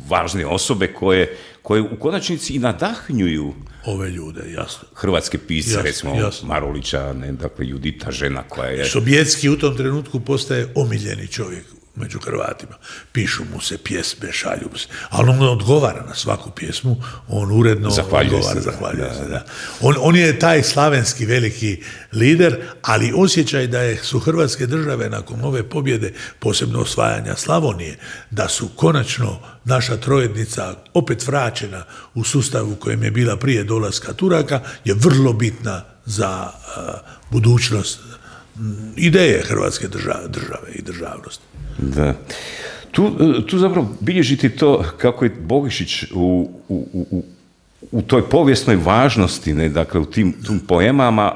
važne osobe koje, koje u konačnici i nadahnjuju ove ljude, jasno. Hrvatske pisce, jasno, recimo jasno. Marulića, ne, dakle, Judita, žena koja je... Sobijevski u tom trenutku postaje omiljeni čovjek među Hrvatima. Pišu mu se pjesme, šalju mu se, ali on odgovara na svaku pjesmu, on uredno zahvaljuje odgovara, se, zahvaljuje da, se. Da. Da. On, on je taj slavenski veliki lider, ali osjećaj da je, su Hrvatske države nakon ove pobjede, posebno osvajanja Slavonije, da su konačno naša trojednica opet vraćena u sustavu u kojem je bila prije dolaska Turaka, je vrlo bitna za uh, budućnost ideje Hrvatske države, države i državnosti. Da. Tu, tu zapravo bilježiti to kako je Bogišić u, u, u, u toj povijesnoj važnosti, ne, dakle u tim, tim poemama...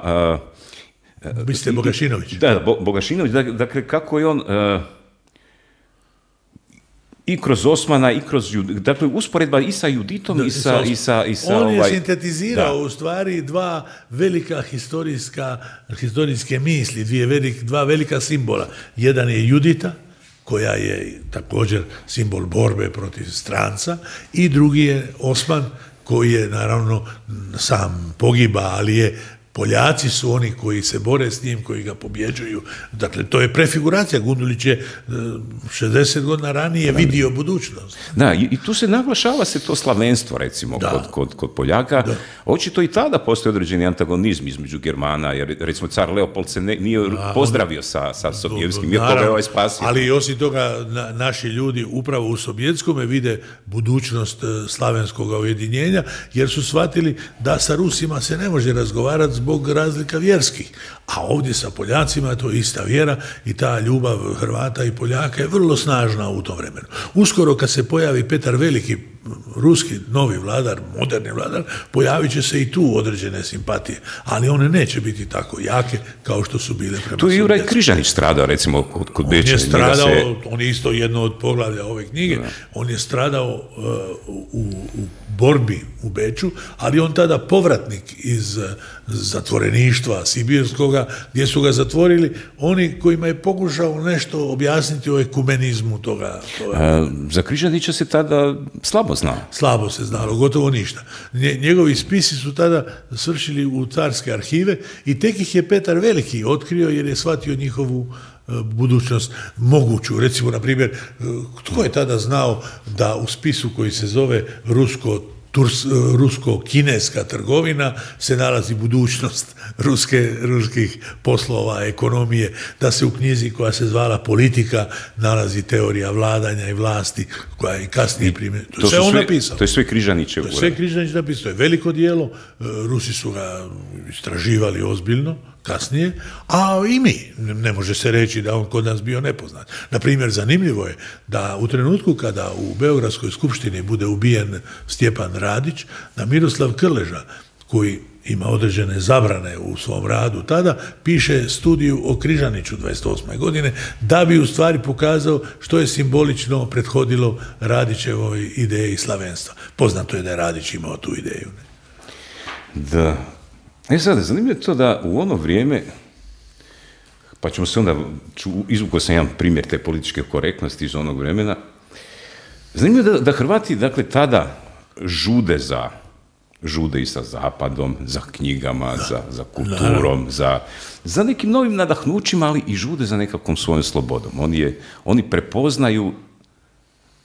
Uh, Mislite Bogašinović? Da, Bo, Bogašinović, dakle kako je on... Uh, i kroz Osmana, i kroz... Dakle, usporedba i sa Juditom, da, i, sa, i sa... I sa on je ovaj, sintetizirao da. u stvari dva velika historijska, historijske misli, dvije velik, dva velika simbola. Jedan je Judita, koja je također simbol borbe protiv stranca, i drugi je Osman, koji je naravno sam pogiba, ali je Poljaci su oni koji se bore s njim, koji ga pobjeđuju. Dakle, to je prefiguracija. Gundulić je šezdeset godina ranije vidio budućnost. Da, i, i tu se naglašava se to slavenstvo, recimo, kod, kod, kod Poljaka. Da. Očito i tada postoji određeni antagonizm između Germana, jer, recimo, car Leopold se ne, nije da, pozdravio sa, sa Sobijevskim, jer toga je ovaj spasio. Ali osim toga, na, naši ljudi upravo u Sobijevskome vide budućnost slavenskog ujedinjenja, jer su shvatili da sa Rusima se ne može razgovarati zbog razlika vjerskih. A ovdje sa Poljacima je to ista vjera i ta ljubav Hrvata i Poljaka je vrlo snažna u tom vremenu. Uskoro kad se pojavi Petar Veliki, ruski novi vladar, moderni vladar, pojavit će se i tu određene simpatije, ali one neće biti tako jake kao što su bile prema. Tu je Juraj Križanić stradao, recimo, kod, kod Beča. On je stradao, se... on je isto jedno od poglavlja ove knjige, da. On je stradao uh, u, u borbi u Beču, ali on tada povratnik iz zatvoreništva sibirskoga, gdje su ga zatvorili oni kojima je pokušao nešto objasniti o ekumenizmu toga. toga. A, za Križanića se tada slabo znao. Slabo se znalo, gotovo ništa. Njegovi spisi su tada svršili u carske arhive i tek ih je Petar Veliki otkrio jer je shvatio njihovu budućnost moguću. Recimo, na primjer, tko je tada znao da u spisu koji se zove Rusko Turs, rusko-kineska trgovina se nalazi budućnost ruske, ruskih poslova, ekonomije, da se u knjizi koja se zvala Politika nalazi teorija vladanja i vlasti koja je kasnije primjer. To, to je sve on napisao. To je sve Križanićev. To je sve Križanić napisao. To je veliko dijelo. Rusi su ga istraživali ozbiljno kasnije, a i mi. Ne može se reći da on kod nas bio nepoznat. Naprimjer, zanimljivo je da u trenutku kada u Beogradskoj skupštini bude ubijen Stjepan Radić, da Miroslav Krleža, koji ima određene zabrane u svom radu tada, piše studiju o Križaniću dvadeset osme godine, da bi u stvari pokazao što je simbolično prethodilo Radićevoj ideji slavenstva. Poznato je da je Radić imao tu ideju. Ne? Da. E sad, zanimljivo je to da u ono vrijeme, pa ćemo se onda, izvukao sam jedan primjer te političke korektnosti iz onog vremena, zanimljivo je da, da Hrvati, dakle, tada žude za, žude i sa Zapadom, za knjigama, za, za kulturom, za, za nekim novim nadahnućima, ali i žude za nekakvom svojom slobodom. Oni, je, oni prepoznaju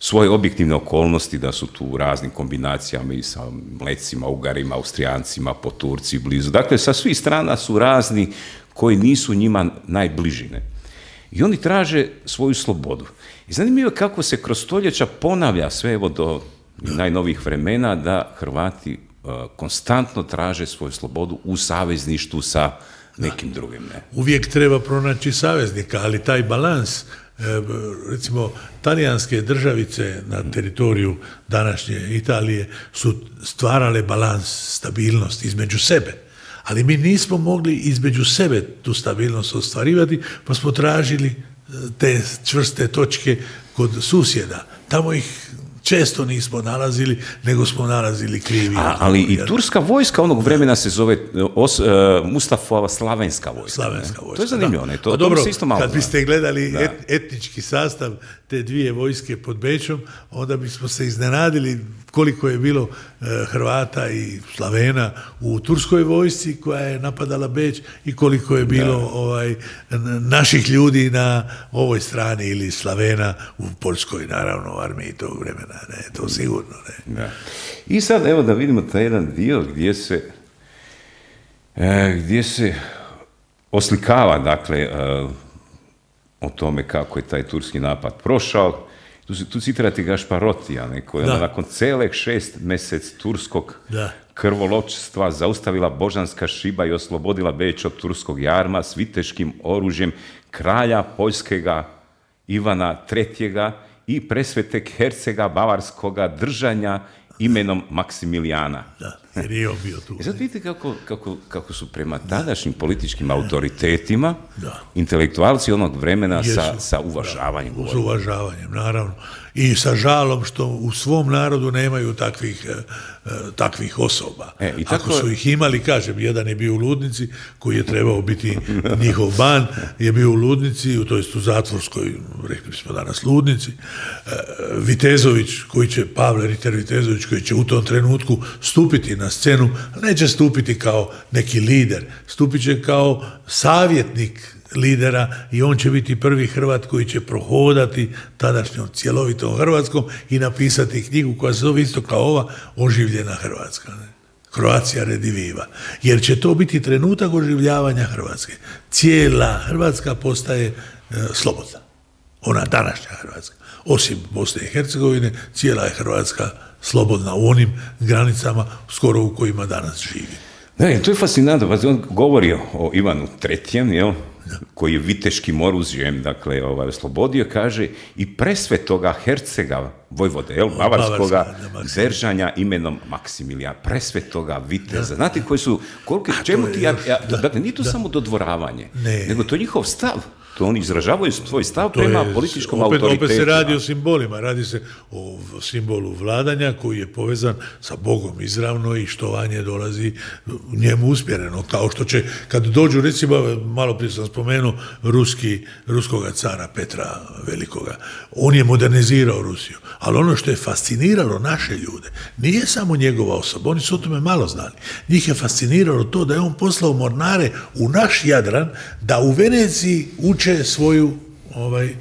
svoje objektivne okolnosti, da su tu u raznim kombinacijama i sa Mlecima, Ugarima, Austrijancima, po Turci blizu. Dakle, sa svih strana su razni koji nisu njima najbližine. I oni traže svoju slobodu. I zanimljivo je kako se kroz stoljeća ponavlja sve evo do najnovijih vremena da Hrvati uh, konstantno traže svoju slobodu u savezništvu sa nekim drugim. Ne? Uvijek treba pronaći saveznika, ali taj balans, recimo, talijanske državice na teritoriju današnje Italije su stvarale balans, stabilnost između sebe. Ali mi nismo mogli između sebe tu stabilnost ostvarivati, pa smo tražili te čvrste točke kod susjeda. Tamo ih često nismo nalazili, nego smo nalazili krivi. A, ali i turska vojska onog vremena se zove os, uh, Mustafova slavenska vojska. Slavenska vojska, to je zanimljivo, ne? To, a dobro, to se isto malo kad biste gledali da. et, etnički sastav te dvije vojske pod Bečom, onda bismo se iznenadili koliko je bilo uh, Hrvata i Slavena u turskoj vojsci koja je napadala Beč i koliko je bilo da. ovaj, naših ljudi na ovoj strani ili Slavena u Poljskoj, naravno, u armiji tog vremena. Ne, to sigurno, ne. Da. I sad, evo da vidimo taj jedan dio gdje se e, gdje se oslikava, dakle, e, o tome kako je taj turski napad prošao. Tu, tu citirati Gašparotija, neko je nakon celih šest mjesec turskog da. krvoločstva zaustavila božanska šiba i oslobodila Beč od turskog jarma s viteškim oružjem kralja poljskega Ivana Tretjega i presveteg hercega bavarskoga držanja imenom Maksimilijana. Da, jer je on bio tu. I sad vidite kako, kako, kako su prema tadašnjim političkim autoritetima da. intelektualci onog vremena sa, sa uvažavanjem da, s uvažavanjem, naravno. I sa žalom što u svom narodu nemaju takvih, eh, takvih osoba. E, i tako... Ako su ih imali, kažem, jedan je bio u Ludnici, koji je trebao biti njihov ban, je bio u Ludnici, to jest u zatvorskoj, rekli smo danas, Ludnici. Eh, Vitezović, koji će, Pavle Riter Vitezović, koji će u tom trenutku stupiti na scenu, neće stupiti kao neki lider, stupit će kao savjetnik lidera i on će biti prvi Hrvat koji će prohodati tadašnjom cjelovitom Hrvatskom i napisati knjigu koja se zove isto kao ova, Oživljena Hrvatska. Ne? Croatia rediviva. Jer će to biti trenutak oživljavanja Hrvatske. Cijela Hrvatska postaje e, slobodna. Ona današnja Hrvatska. Osim Bosne i Hercegovine, cijela je Hrvatska slobodna u onim granicama skoro u kojima danas živi. Ne, to je fascinantno. On govori o Ivanu Tretjem, jel? Koji je viteškim oružjem, dakle, ovaj, oslobodio, kaže, i presvetoga hercega Vojvode, jel, bavarskoga držanja imenom Maksimilijan, presvetoga viteza. Znate koji su, koliko, čemu ti, ja, ja, dakle, nije to da. samo dodvoravanje, ne. nego to je njihov stav. To oni izražavaju svoj stav to prema je, političkom opet, autoritetu. Opet se radi o simbolima, radi se o simbolu vladanja koji je povezan sa Bogom izravno i štovanje dolazi njemu uspjereno. Kao što će, kad dođu, recimo, malo prije sam spomenuo, ruski, ruskoga cara Petra Velikoga, on je modernizirao Rusiju. Ali ono što je fasciniralo naše ljude, nije samo njegova osoba, oni su o tome malo znali. Njih je fasciniralo to da je on poslao mornare u naš Jadran, da u Veneciji uče svoju ovaj,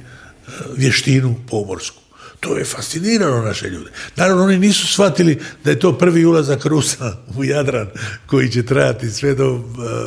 vještinu pomorsku. To je fasciniralo naše ljude. Naravno, oni nisu shvatili da je to prvi ulazak Rusa u Jadran koji će trajati sve do uh,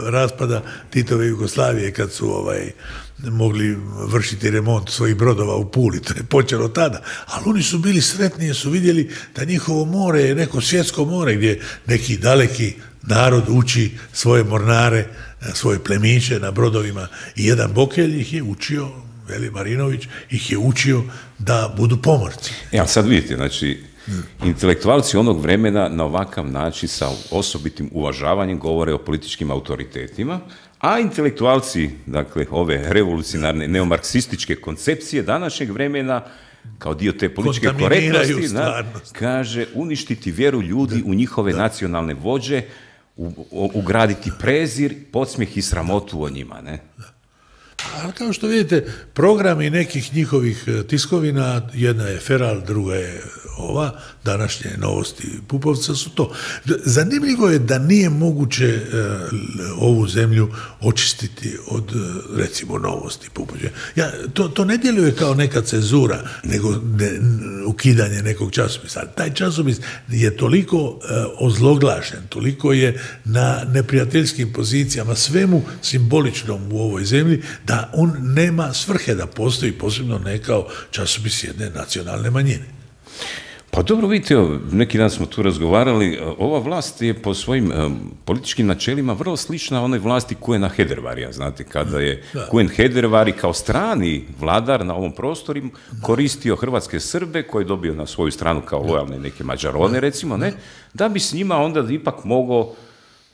raspada Titove Jugoslavije kad su ovaj, mogli vršiti remont svojih brodova u Puli. To je počelo tada. Ali oni su bili sretni jer su vidjeli da njihovo more je neko svjetsko more gdje neki daleki narod uči svoje mornare, svoje plemiće na brodovima. I jedan Bokelj ih je učio, Veli Marinović, ih je učio da budu pomorci. Ja, sad vidite, znači, hmm. intelektualci onog vremena na ovakav način sa osobitim uvažavanjem govore o političkim autoritetima, a intelektualci, dakle, ove revolucionarne neomarksističke koncepcije današnjeg vremena, kao dio te političke korektnosti, na, kaže uništiti vjeru ljudi da, u njihove da. nacionalne vođe, u, u, ugraditi prezir, podsmijeh i sramotu o njima, ne? Da. Ali kao što vidite, programi nekih njihovih tiskovina, jedna je Feral, druga je ova, današnje Novosti Pupovca su to. Zanimljivo je da nije moguće uh, ovu zemlju očistiti od, uh, recimo, Novosti Pupovca. Ja, to, to ne djeluje kao neka cenzura, nego ne, ukidanje nekog časopisa. Taj časopis je toliko uh, ozloglašen, toliko je na neprijateljskim pozicijama, svemu simboličnom u ovoj zemlji, da on nema svrhe da postoji, posebno ne kao časopis jedne nacionalne manjine. Pa dobro, vidite, neki dan smo tu razgovarali, ova vlast je po svojim um, političkim načelima vrlo slična onoj vlasti Kuena Hedervarija, znate, kada je da. Kuen Hedervari kao strani vladar na ovom prostoru koristio hrvatske Srbe, koje je dobio na svoju stranu kao lojalne neke Mađarone, recimo, ne, da bi s njima onda ipak mogao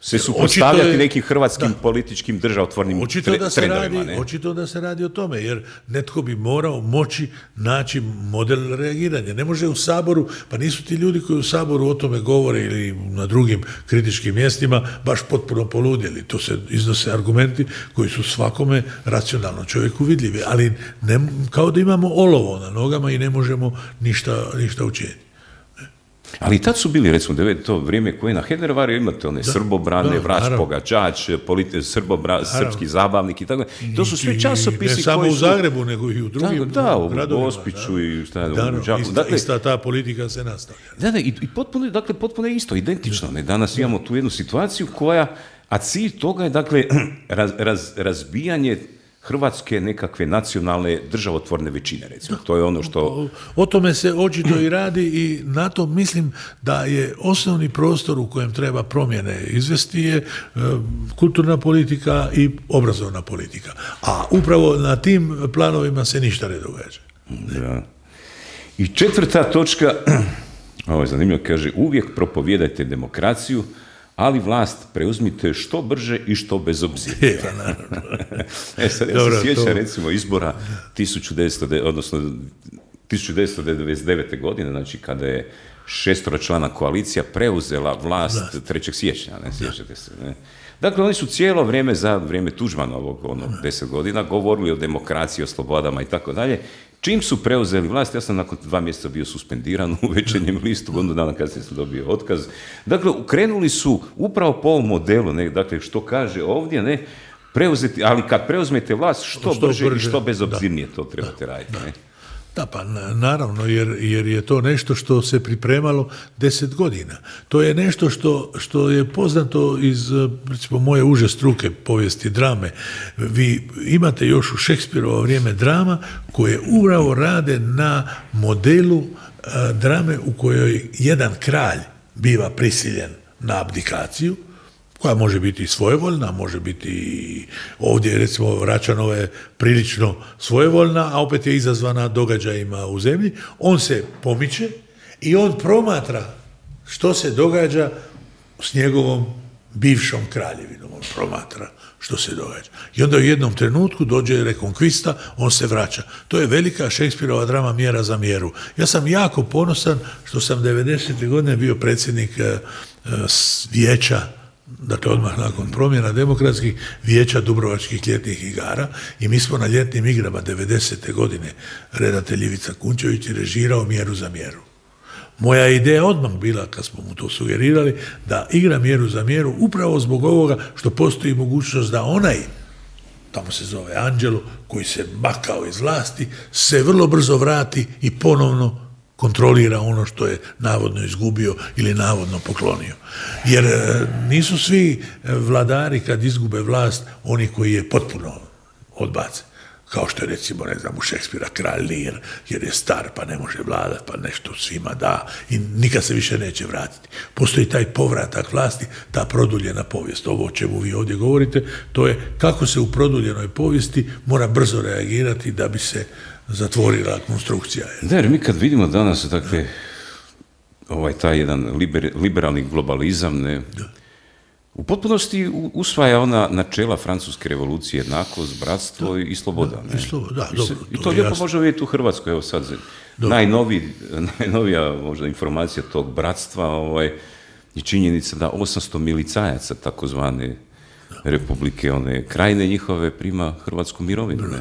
se suprotstavljati nekim hrvatskim da. političkim državotvornim očito da se trendovima. Radi, očito da se radi o tome, jer netko bi morao moći naći model reagiranja. Ne može u Saboru, pa nisu ti ljudi koji u Saboru o tome govore ili na drugim kritičkim mjestima baš potpuno poludjeli. To se iznose argumenti koji su svakome racionalno čovjeku vidljivi, ali ne, kao da imamo olovo na nogama i ne možemo ništa, ništa učiniti. Ali i tad su bili, recimo, to vrijeme koje na Hedervaru imate one da, Srbobrane, da, Vrać Pogačač, Srbobra, Srpski zabavnik i tako. To su sve časopisi ne samo koji u Zagrebu, su, nego i u drugim da, da, u gradovima. Gospiću da, i šta je, da, u Đakovu. Ista, dakle, ista ta politika se nastavlja. Da, da, i, i potpuno, dakle, potpuno je isto, identično. Ne? Danas da. imamo tu jednu situaciju koja, a cilj toga je, dakle, raz, raz, razbijanje hrvatske nekakve nacionalne državotvorne većine, recimo. To je ono što... O, o tome se očito i radi i na to mislim da je osnovni prostor u kojem treba promjene izvesti je e, kulturna politika i obrazovna politika. A upravo na tim planovima se ništa ne događa. Da. I četvrta točka, ovo je zanimljivo, kaže, uvijek propovijedajte demokraciju, ali vlast preuzmite što brže i što bezobzirnije. e sad, ja Dobro, se sjećam, to... recimo, izbora tisuću devetsto, odnosno tisuću devetsto devedeset devete. godine, znači kada je šestoročlana koalicija preuzela vlast da. trećeg siječnja, ne sjećate se, ne? Dakle, oni su cijelo vrijeme, za vrijeme Tuđmanovog, ono, deset godina, govorili o demokraciji, o slobodama i tako dalje. Čim su preuzeli vlast, ja sam nakon dva mjeseca bio suspendiran u Večernjem listu, godinu dana kasnije sam dobio otkaz. Dakle, krenuli su upravo po ovom modelu, ne, dakle, što kaže ovdje, ne, preuzeti, ali kad preuzmete vlast, što, što brže, brže i što bezobzirnije da. to trebate da. raditi, ne? Da, pa naravno, jer, jer je to nešto što se pripremalo deset godina. To je nešto što, što je poznato iz, recimo, moje uže struke, povijesti drame. Vi imate još u Šekspirovo vrijeme drama koje upravo rade na modelu a, drame u kojoj jedan kralj biva prisiljen na abdikaciju, koja može biti svojevoljna, može biti ovdje, recimo, Račanova je prilično svojevoljna, a opet je izazvana događajima u zemlji. On se pomiče i on promatra što se događa s njegovom bivšom kraljevinom. On promatra što se događa. I onda u jednom trenutku dođe rekonkvista, on se vraća. To je velika Šekspirova drama Mjera za mjeru. Ja sam jako ponosan što sam devedesete godine bio predsjednik uh, vijeća, dakle odmah nakon promjena demokratskih, vijeća Dubrovačkih ljetnih igara, i mi smo na ljetnim igrama devedesete godine, redatelj Ivica Kunčević je režirao Mjeru za mjeru. Moja ideja odmah bila, kad smo mu to sugerirali, da igra Mjeru za mjeru upravo zbog ovoga što postoji mogućnost da onaj, tamo se zove Anđelo, koji se makao iz vlasti, se vrlo brzo vrati i ponovno kontrolira ono što je navodno izgubio ili navodno poklonio. Jer nisu svi vladari kad izgube vlast oni koji je potpuno odbace. Kao što je recimo, ne znam, u Šekspira kralj Lear, jer je star pa ne može vladati, pa nešto svima da i nikad se više neće vratiti. Postoji taj povratak vlasti, ta produljena povijest. Ovo o čemu vi ovdje govorite, to je kako se u produljenoj povijesti mora brzo reagirati da bi se zatvorila konstrukcija. Da, jer mi kad vidimo danas, dakle, ovaj taj jedan liber, liberalni globalizam, ne, da. U potpunosti usvaja ona načela francuske revolucije, jednakost, bratstvo da, i sloboda. Da, ne? I, sloboda, da, I, dobro, I to, to lijepo može vidjeti u Hrvatskoj. Evo sad, najnoviji, najnovija možda informacija tog bratstva ovaj, je činjenica da osamsto milicajaca takozvane republike, one krajine njihove, prima hrvatsku mirovinu. Ne?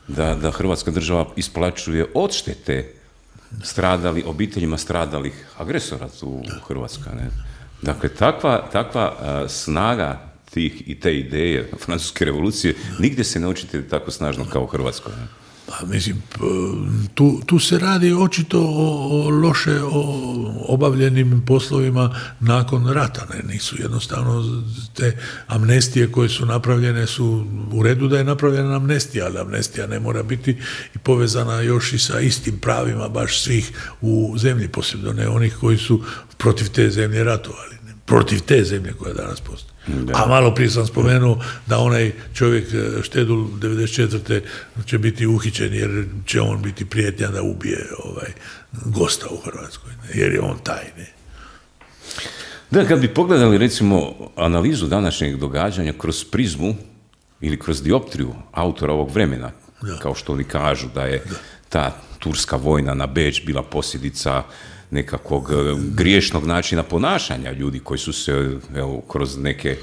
Da, da Hrvatska država isplaćuje odštete stradali, obiteljima stradalih agresora tu u Hrvatskoj. Ne? Dakle, takva, takva uh, snaga tih i te ideje francuske revolucije nigdje se ne očite tako snažno kao u Hrvatskoj. Ne? Pa, mislim, tu, tu se radi očito o, o loše o obavljenim poslovima nakon rata. Ne? Nisu jednostavno te amnestije koje su napravljene su u redu da je napravljena amnestija, ali amnestija ne mora biti i povezana još i sa istim pravima baš svih u zemlji, posebno ne onih koji su protiv te zemlje ratovali, ne? Protiv te zemlje koja danas postoji. Da. A malo prije sam spomenuo da onaj čovjek Štedul devedeset četvrte će biti uhićen jer će on biti prijetnja da ubije ovaj gosta u Hrvatskoj, ne? Jer je on taj. Ne? Da, kad bi pogledali recimo analizu današnjeg događanja kroz prizmu ili kroz dioptriju autora ovog vremena, da. Kao što oni kažu da je da. Ta turska vojna na Beč bila posljedica nekakvog griješnog načina ponašanja ljudi koji su se evo, kroz neke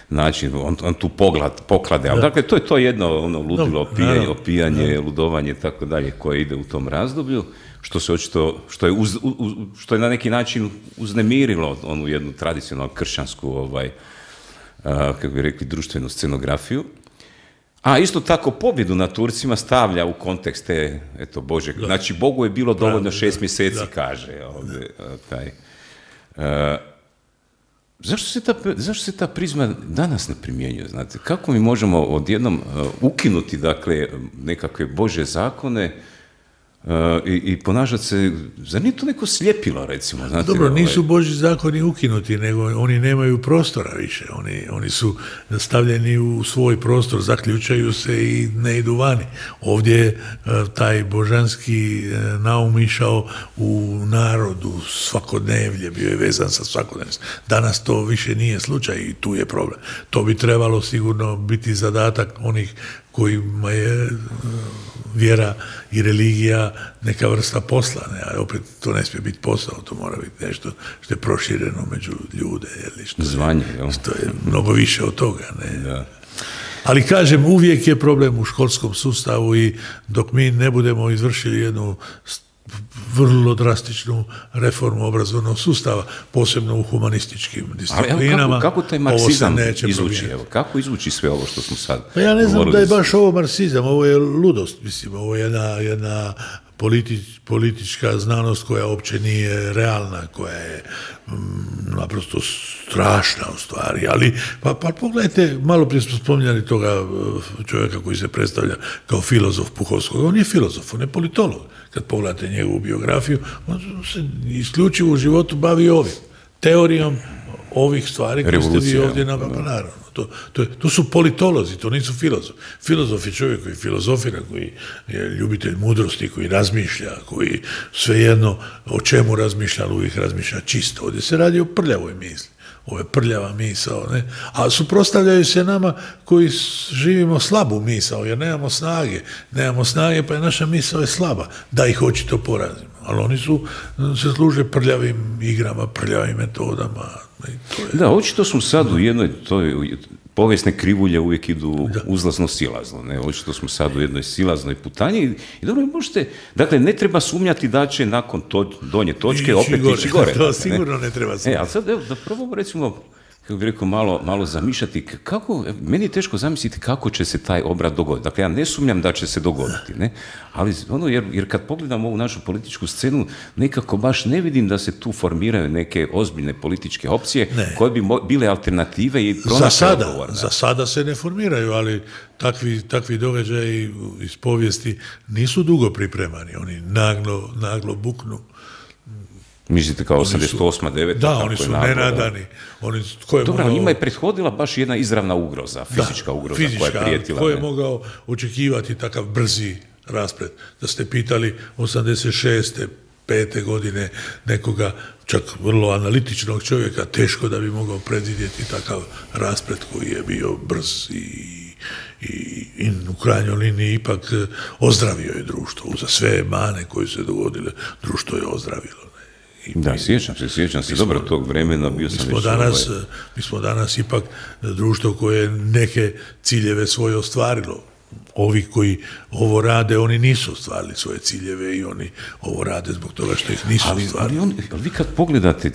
način, on, on tu pogled, poklade, ali dakle to je to jedno ono ludilo, opijanje, opijanje ludovanje i tako dalje koje ide u tom razdoblju, što se očito, što je, uz, uz, što je na neki način uznemirilo onu jednu tradicionalnu kršćansku, ovaj, a, kako bi rekli, društvenu scenografiju. A isto tako pobjedu na Turcima stavlja u kontekst te, eto, Bože, da. Znači Bogu je bilo dovoljno šest mjeseci, da. Kaže ovdje, taj. Uh, zašto, se ta, zašto se ta prizma danas ne primjenjuje, znate? Kako mi možemo odjednom uh, ukinuti, dakle, nekakve Božje zakone Uh, i, i ponašati se, zar nije to neko sljepilo, recimo? Znate, dobro, ovaj... nisu Božji zakoni ukinuti, nego oni nemaju prostora više, oni, oni su stavljeni u svoj prostor, zaključaju se i ne idu vani. Ovdje je uh, taj božanski uh, naum išao u narodu, svakodnevlje, bio je vezan sa svakodnevnim. Danas to više nije slučaj i tu je problem. To bi trebalo sigurno biti zadatak onih kojima je uh, vjera i religija neka vrsta posla, ne? Ali opet to ne smije biti posao, to mora biti nešto što je prošireno među ljude, jeli, što, Zvanje, je, što je mnogo više od toga. Ne? Da. Ali kažem, uvijek je problem u školskom sustavu i dok mi ne budemo izvršili jednu vrlo drastičnu reformu obrazovnog sustava, posebno u humanističkim disciplinama. Ali kako, kako taj marksizam izvuči? Evo, kako izvuči sve ovo što smo sad pa ja ne znam da je baš ovo marksizam, ovo je ludost, mislim, ovo je jedna, jedna politi, politička znanost koja uopće nije realna, koja je mm, naprosto strašna u stvari, ali pa, pa pogledajte, malo prije smo spominjali toga čovjeka koji se predstavlja kao filozof Puhovskog, on je filozof, on je politolog. Kad pogledate njegovu biografiju, on se isključivo u životu bavi ovim, teorijom ovih stvari koje ste vi ovdje napravili. Pa naravno, to, to, to su politolozi, to nisu filozofi. Filozof je čovjek koji filozofira, koji je ljubitelj mudrosti, koji razmišlja, koji svejedno o čemu razmišlja, ali uvijek razmišlja čisto. Ovdje se radi o prljavoj misli. Ovo je prljava misao, ne? A suprotstavljaju se nama koji živimo slabu misao, jer nemamo snage. Nemamo snage, pa je naša misao je slaba, da ih očito porazimo. Ali oni su, se služe prljavim igrama, prljavim metodama. I to je... Da, očito smo sad u jednoj, to je, povijesne krivulje uvijek idu uzlazno-silazno, ne? Očito smo sad u jednoj silaznoj putanji i, i dobro, možete, dakle, ne treba sumnjati da će nakon to, donje točke ići opet gore. Ići gore. To dakle, sigurno ne, ne treba sumnjati. E, ali sad, evo, da probamo, recimo, kako bih rekao, malo, malo zamišljati. Kako, meni je teško zamisliti kako će se taj obrat dogoditi. Dakle, ja ne sumnjam da će se dogoditi, ne? Ali ono, jer, jer kad pogledam ovu našu političku scenu, nekako baš ne vidim da se tu formiraju neke ozbiljne političke opcije ne. koje bi mo- bile alternative i pronašle odgovor. Za sada se ne formiraju, ali takvi, takvi događaji iz povijesti nisu dugo pripremani. Oni naglo, naglo buknu. Mislite kao osamdeset osma, deveta Da, oni su nenadani. Oni, ko je Dobro, mogao, njima je prethodila baš jedna izravna ugroza, fizička da, ugroza fizička, koja je prijetila. Ko je mogao očekivati takav brzi rasplet? Da ste pitali osamdeset šeste pete godine nekoga, čak vrlo analitičnog čovjeka, teško da bi mogao predvidjeti takav rasplet koji je bio brz i i, i u krajnjoj liniji ipak ozdravio je društvo. Uza sve mane koje su se dogodile, društvo je ozdravilo. I da, mi, sjećam se, sjećam se dobro tog vremena. Bio mi, sam smo danas, ovaj... mi smo danas ipak društvo koje neke ciljeve svoje ostvarilo. Ovi koji ovo rade, oni nisu ostvarili svoje ciljeve i oni ovo rade zbog toga što ih nisu ali, ostvarili. Ali, on, ali vi kad pogledate,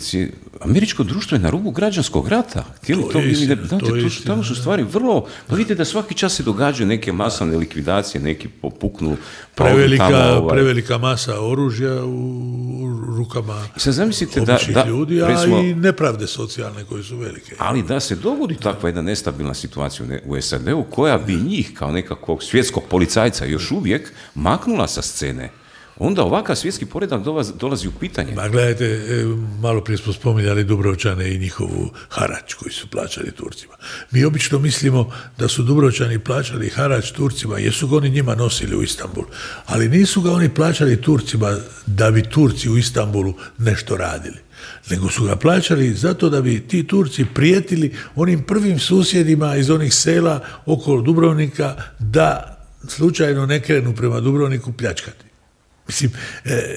američko društvo je na rubu građanskog rata. Htjeli to, to je istina, ne, to je istina. Tamo su stvari vrlo... Pa vidite da svaki čas se događaju neke masovne likvidacije, neki popuknu... Prevelika, tamo, ovaj... prevelika masa oružja u rukama sad zamislite da, da, ljudi, a recimo, i nepravde socijalne koje su velike. Ali da se dogodi takva jedna nestabilna situacija u S A D-u koja bi njih kao nekakvog svjetskog policajca još uvijek maknula sa scene, onda ovakav svjetski poredak dolazi u pitanje. Ma gledajte, malo prije smo spominjali Dubrovčane i njihovu harač koji su plaćali Turcima. Mi obično mislimo da su Dubrovčani plaćali harač Turcima jer su ga oni njima nosili u Istanbul, ali nisu ga oni plaćali Turcima da bi Turci u Istanbulu nešto radili, nego su ga plaćali zato da bi ti Turci prijetili onim prvim susjedima iz onih sela oko Dubrovnika da slučajno ne krenu prema Dubrovniku pljačkati. Mislim, e,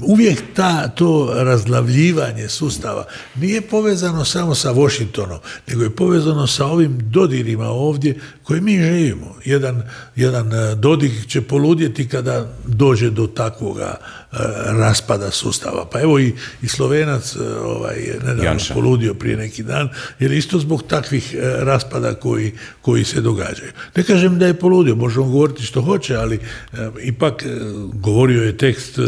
uvijek ta, to razglavljivanje sustava nije povezano samo sa Washingtonom, nego je povezano sa ovim dodirima ovdje koje mi živimo. Jedan, jedan Dodik će poludjeti kada dođe do takvoga e, raspada sustava. Pa evo i, i Slovenac ovaj, je nedavno Janša. poludio prije neki dan, jer isto zbog takvih e, raspada koji, koji se događaju. Ne kažem da je poludio, možemo govoriti što hoće, ali e, ipak e, govorio je tekst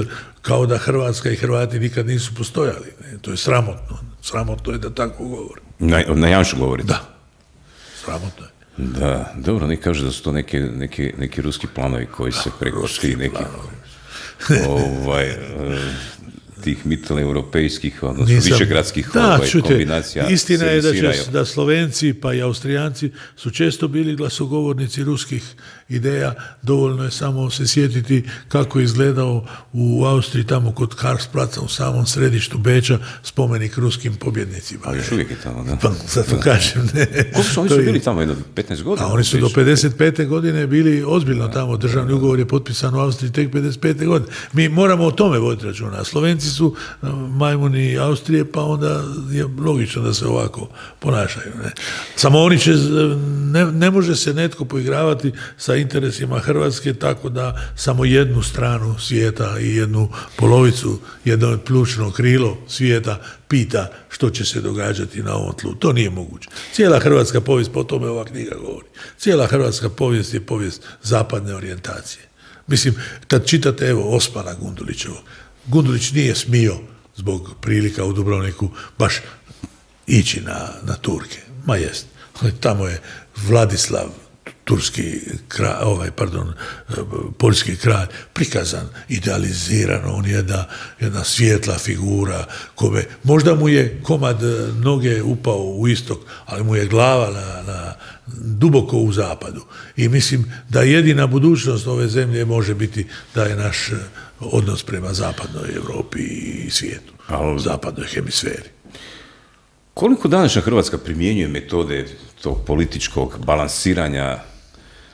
kao da Hrvatska i Hrvati nikad nisu postojali. Ne? To je sramotno. Sramotno je da tako govori. Na, na Janšu govorite? Da. Sramotno je. Da, dobro, ne kaže da su to neki, neki, neki ruski planovi koji se preko ti neki ovaj, tih mitteleuropejskih, odnosno Nisam, višegradskih da, ovaj, čute, kombinacija. Istina je da, će, da Slovenci pa i Austrijanci su često bili glasogovornici ruskih ideja. Dovoljno je samo se sjetiti kako je izgledao u Austriji tamo kod Karlsplaca u samom središtu Beča spomenik ruskim pobjednicima. Ali još uvijek je tamo, da. Pa zato da. kažem, ne. Koliko su oni su bili tamo, jedno petnaest godina? A oni su do pedeset pete godine bili ozbiljno da, tamo. Državni da, ugovor je potpisan u Austriji tek pedeset pete godine. Mi moramo o tome voditi računa. Slovenci su majmuni Austrije, pa onda je logično da se ovako ponašaju. Ne? Samo oni će, ne, ne može se netko poigravati sa interesima Hrvatske tako da samo jednu stranu svijeta i jednu polovicu, jedno pljučno krilo svijeta pita što će se događati na ovom tlu. To nije moguće. Cijela hrvatska povijest, po tome ova knjiga govori, cijela hrvatska povijest je povijest zapadne orijentacije. Mislim, kad čitate, evo, Osmana Gundulićevog, Gundulić nije smio zbog prilika u Dubrovniku baš ići na, na Turke. Ma jest. Tamo je Vladislav, turski kralj, ovaj, pardon, poljski kralj, prikazan, idealiziran, on je jedna, jedna svijetla figura, kome, možda mu je komad noge upao u istok, ali mu je glava na, na, duboko u zapadu. I mislim da jedina budućnost ove zemlje može biti da je naš odnos prema zapadnoj Europi i svijetu, ali zapadnoj hemisferi. Koliko današnja Hrvatska primjenjuje metode tog političkog balansiranja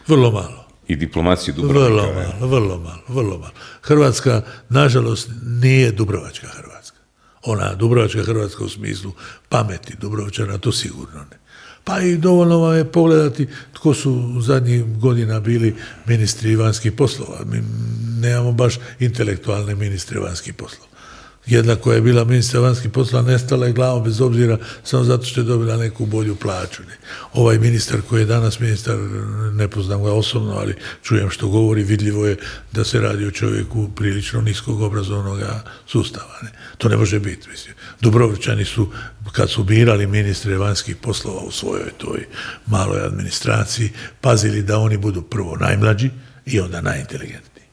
vrlo malo i diplomacije Dubrovnika? Vrlo malo, vrlo malo, vrlo malo. Hrvatska, nažalost, nije dubrovačka Hrvatska. Ona dubrovačka Hrvatska u smislu pameti Dubrovčana, to sigurno ne. Pa i dovoljno vam je pogledati tko su zadnjih godina bili ministri vanjskih poslova. Mi nemamo baš intelektualne ministre vanjskih poslova. jedna koja je bila ministar vanjskih poslova nestala je glavom bez obzira samo zato što je dobila neku bolju plaću. Ne. Ovaj ministar koji je danas ministar, ne poznam ga osobno, ali čujem što govori, vidljivo je da se radi o čovjeku prilično niskog obrazovnog sustava. Ne. To ne može biti. Mislim. Dubrovčani su, kad su birali ministre vanjskih poslova u svojoj toj maloj administraciji, pazili da oni budu prvo najmlađi i onda najinteligentniji.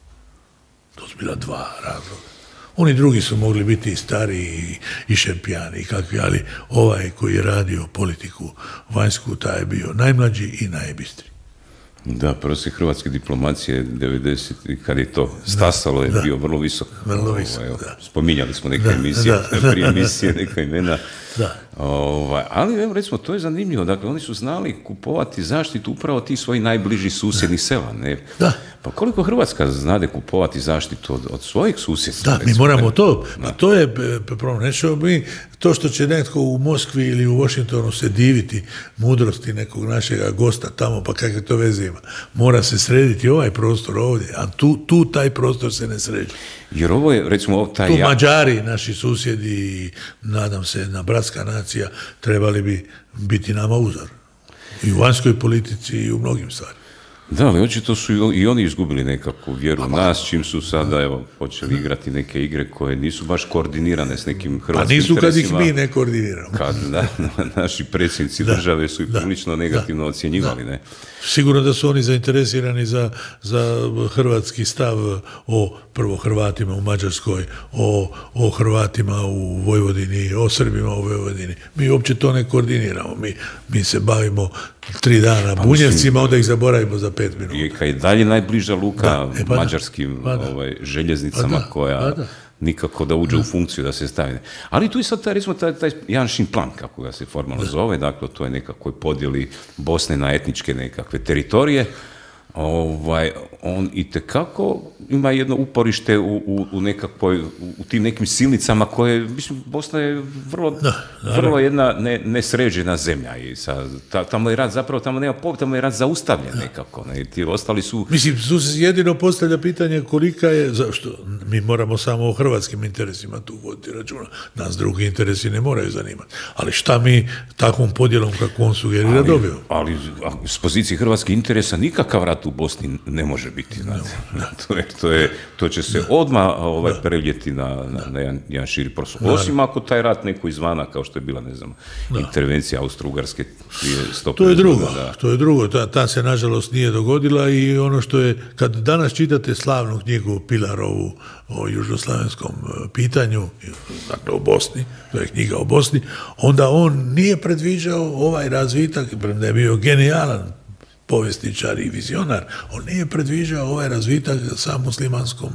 To su bila dva razloga. Oni drugi su mogli biti i stariji i šempijani i kakvi, ali ovaj koji je radio politiku vanjsku, taj je bio najmlađi i najbistriji. Da, prosjek hrvatske diplomacije devedeset kad je to stasalo, je da, bio vrlo visok. Vrlo visok, ovaj, da. Spominjali smo neke da, emisije, da, prije emisije, neka imena. Da. Ovaj, ali evo, recimo, to je zanimljivo. Dakle, oni su znali kupovati zaštitu upravo tih svojih najbližih susjednih sela. Ne? Da. Pa koliko Hrvatska znade kupovati zaštitu od, od svojih susjedstva? Da, recimo, mi moramo ne? to. Pa to je problem. Nećemo mi to što će netko u Moskvi ili u Washingtonu se diviti mudrosti nekog našega gosta tamo, pa kakve to veze ima. Mora se srediti ovaj prostor ovdje, a tu, tu taj prostor se ne sređe. Jer ovo je, recimo, taj... Tu Mađari, naši susjedi, nadam se, na bratska nacija, trebali bi biti nama uzor. I u vanjskoj politici i u mnogim stvarima. Da, ali očito su i oni izgubili nekakvu vjeru u nas, čim su sada, evo, počeli igrati neke igre koje nisu baš koordinirane s nekim hrvatskim interesima. Pa nisu kad ih mi ne koordiniramo. Kad, da, naši predsjednici da, države su ih da, prilično negativno da, ocjenjivali, da. Ne? Sigurno da su oni zainteresirani za, za hrvatski stav o prvo Hrvatima u Mađarskoj, o, o Hrvatima u Vojvodini, o Srbima u Vojvodini. Mi uopće to ne koordiniramo. Mi, mi se bavimo tri dana pa Bunjevcima, onda ih zaboravimo za pet minuta. Rijeka je dalje najbliža luka da, e, pa mađarskim pa ovaj, željeznicama pa da, koja pa da. nikako da uđe da. u funkciju, da se stavi. Ali tu je sad taj, recimo, taj, taj Janšin plan, kako ga se formalno da. zove, dakle, to je nekakvoj podjeli Bosne na etničke nekakve teritorije. Ovaj, on itekako ima jedno uporište u, u, u nekakvoj, u tim nekim silnicama koje, mislim, Bosna je vrlo, da, vrlo jedna ne, nesređena zemlja i sa, ta, tamo je rat, zapravo tamo nema pobjeda, tamo je rat zaustavljen da. nekako, ne, ti ostali su... Mislim, tu se jedino postavlja pitanje kolika je, zašto, mi moramo samo o hrvatskim interesima tu voditi računa, nas drugi interesi ne moraju zanimati, ali šta mi takvom podjelom kako on sugerira dobijemo? Ali, ali s pozicije hrvatskih interesa nikakav rat u Bosni ne može biti, znate. No, to, je, to, je, to će se odmah ovaj, preljeti na, na, na jedan, jedan širi prostor. Osim ako taj rat neko izvana, kao što je bila, ne znam, da. intervencija Austro-Ugarske prije sto To je drugo, da. to je drugo. Ta, ta se, nažalost, nije dogodila i ono što je, kad danas čitate slavnu knjigu Pilarovu o južnoslavenskom pitanju, dakle o Bosni, to je knjiga o Bosni, onda on nije predviđao ovaj razvitak, premda je bio genijalan povjesničar i vizionar, on nije predviđao ovaj razvitak sa muslimanskom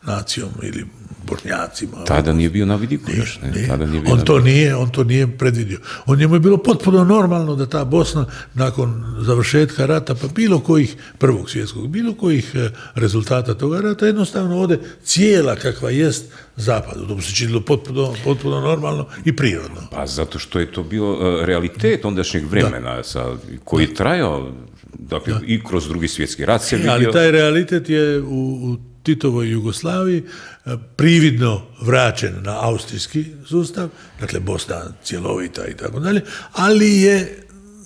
nacijom ili Bošnjacima. Tada nije bio na vidiku još. Ne? Nije. Tada nije bio on, na to nije, on to nije predvidio. On njemu je bilo potpuno normalno da ta Bosna nakon završetka rata, pa bilo kojih prvog svjetskog, bilo kojih rezultata toga rata, jednostavno ode cijela kakva jest zapadu. To bi se činilo potpuno, potpuno normalno i prirodno. Pa zato što je to bio realitet ondašnjeg vremena da. sa, koji je trajao dakle, da. i kroz drugi svjetski rat se vidio. Ali taj realitet je u, u Titovoj Jugoslaviji prividno vraćen na austrijski sustav, dakle Bosna cjelovita i tako dalje, ali je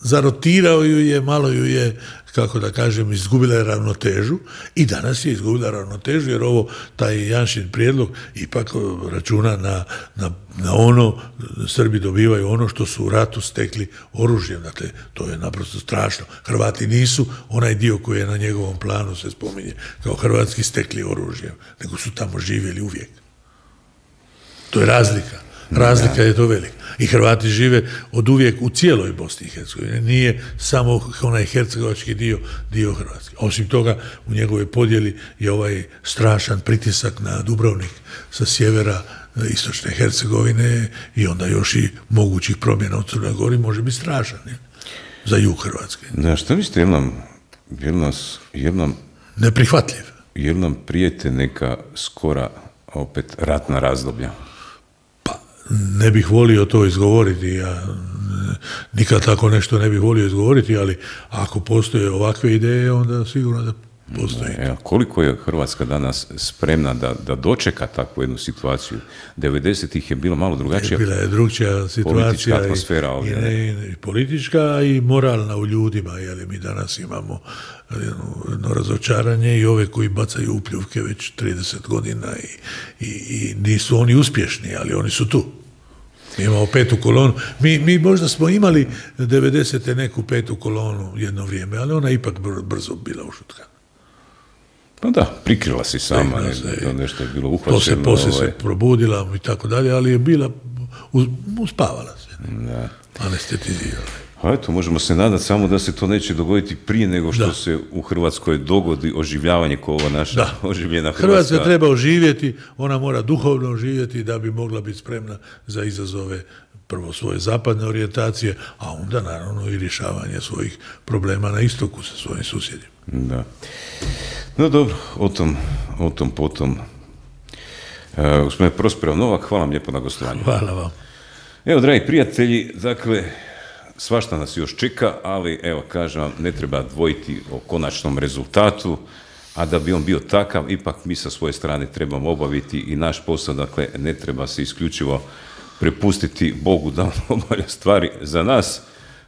zarotirao ju je, malo ju je, kako da kažem, izgubila je ravnotežu i danas je izgubila ravnotežu jer ovo, taj Janšin prijedlog ipak računa na, na, na ono, Srbi dobivaju ono što su u ratu stekli oružjem, dakle to je naprosto strašno. Hrvati nisu onaj dio koji je na njegovom planu se spominje kao hrvatski stekli oružjem, nego su tamo živjeli uvijek. To je razlika. Razlika je to velika. I Hrvati žive od uvijek u cijeloj Bosni i Hercegovini. Nije samo onaj hercegovački dio, dio Hrvatske. Osim toga, u njegovoj podjeli je ovaj strašan pritisak na Dubrovnik sa sjevera istočne Hercegovine i onda još i mogućih promjena u Crnoj Gori može biti strašan, ne? Za jug Hrvatske. Da, što mislite, jel nam, jel nas, jel nam, neprihvatljiv. Jel nam prijete neka skora opet ratna razdoblja? Ne bih volio to izgovoriti, ja nikad tako nešto ne bih volio izgovoriti, ali ako postoje ovakve ideje, onda sigurno da postoji. E, koliko je Hrvatska danas spremna da, da dočeka takvu jednu situaciju? devedesetih je bilo malo drugačija. Bila je drugčija situacija atmosfera i, ovdje, i, i politička i moralna u ljudima, jer mi danas imamo jedno razočaranje i ove koji bacaju upljuvke već trideset godina i, i, i nisu oni uspješni, ali oni su tu. Mi imamo petu kolonu. Mi, mi možda smo imali devedesete neku petu kolonu jedno vrijeme, ali ona ipak brzo bila ušutkana. Pa da, prikrila si sama, ne, se, nešto je bilo uhvaćeno. Poslije, poslije ovaj... se probudila i tako dalje, ali je bila, uspavala se, da. Anestetizirala. A eto, možemo se nadati samo da se to neće dogoditi prije nego što da. se u Hrvatskoj dogodi oživljavanje kao ova naša da. oživljena Hrvatska. Hrvatska treba oživjeti, ona mora duhovno oživjeti da bi mogla biti spremna za izazove prvo svoje zapadne orijentacije, a onda naravno i rješavanje svojih problema na istoku sa svojim susjedima. Da. No dobro, o tom, o tom potom. E, gospodine Prosperov Novak, hvala vam lijepo na gostovanju. Hvala vam. Evo, dragi prijatelji, dakle, svašta nas još čeka, ali evo, kažem vam, ne treba dvojiti o konačnom rezultatu, a da bi on bio takav, ipak mi sa svoje strane trebamo obaviti i naš posao, dakle, ne treba se isključivo prepustiti Bogu da on obavlja stvari za nas.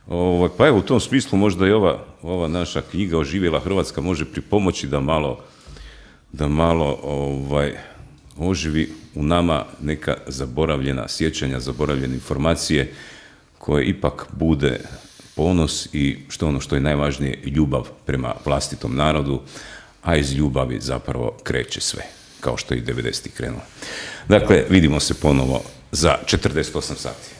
Ovo, pa evo, u tom smislu možda i ova, ova naša knjiga Oživjela Hrvatska može pripomoći da malo, da malo ovaj, oživi u nama neka zaboravljena sjećanja, zaboravljene informacije, koje ipak bude ponos i što ono što je najvažnije, ljubav prema vlastitom narodu, a iz ljubavi zapravo kreće sve, kao što je i devedesetih krenulo. Dakle, vidimo se ponovo za četrdeset osam sati.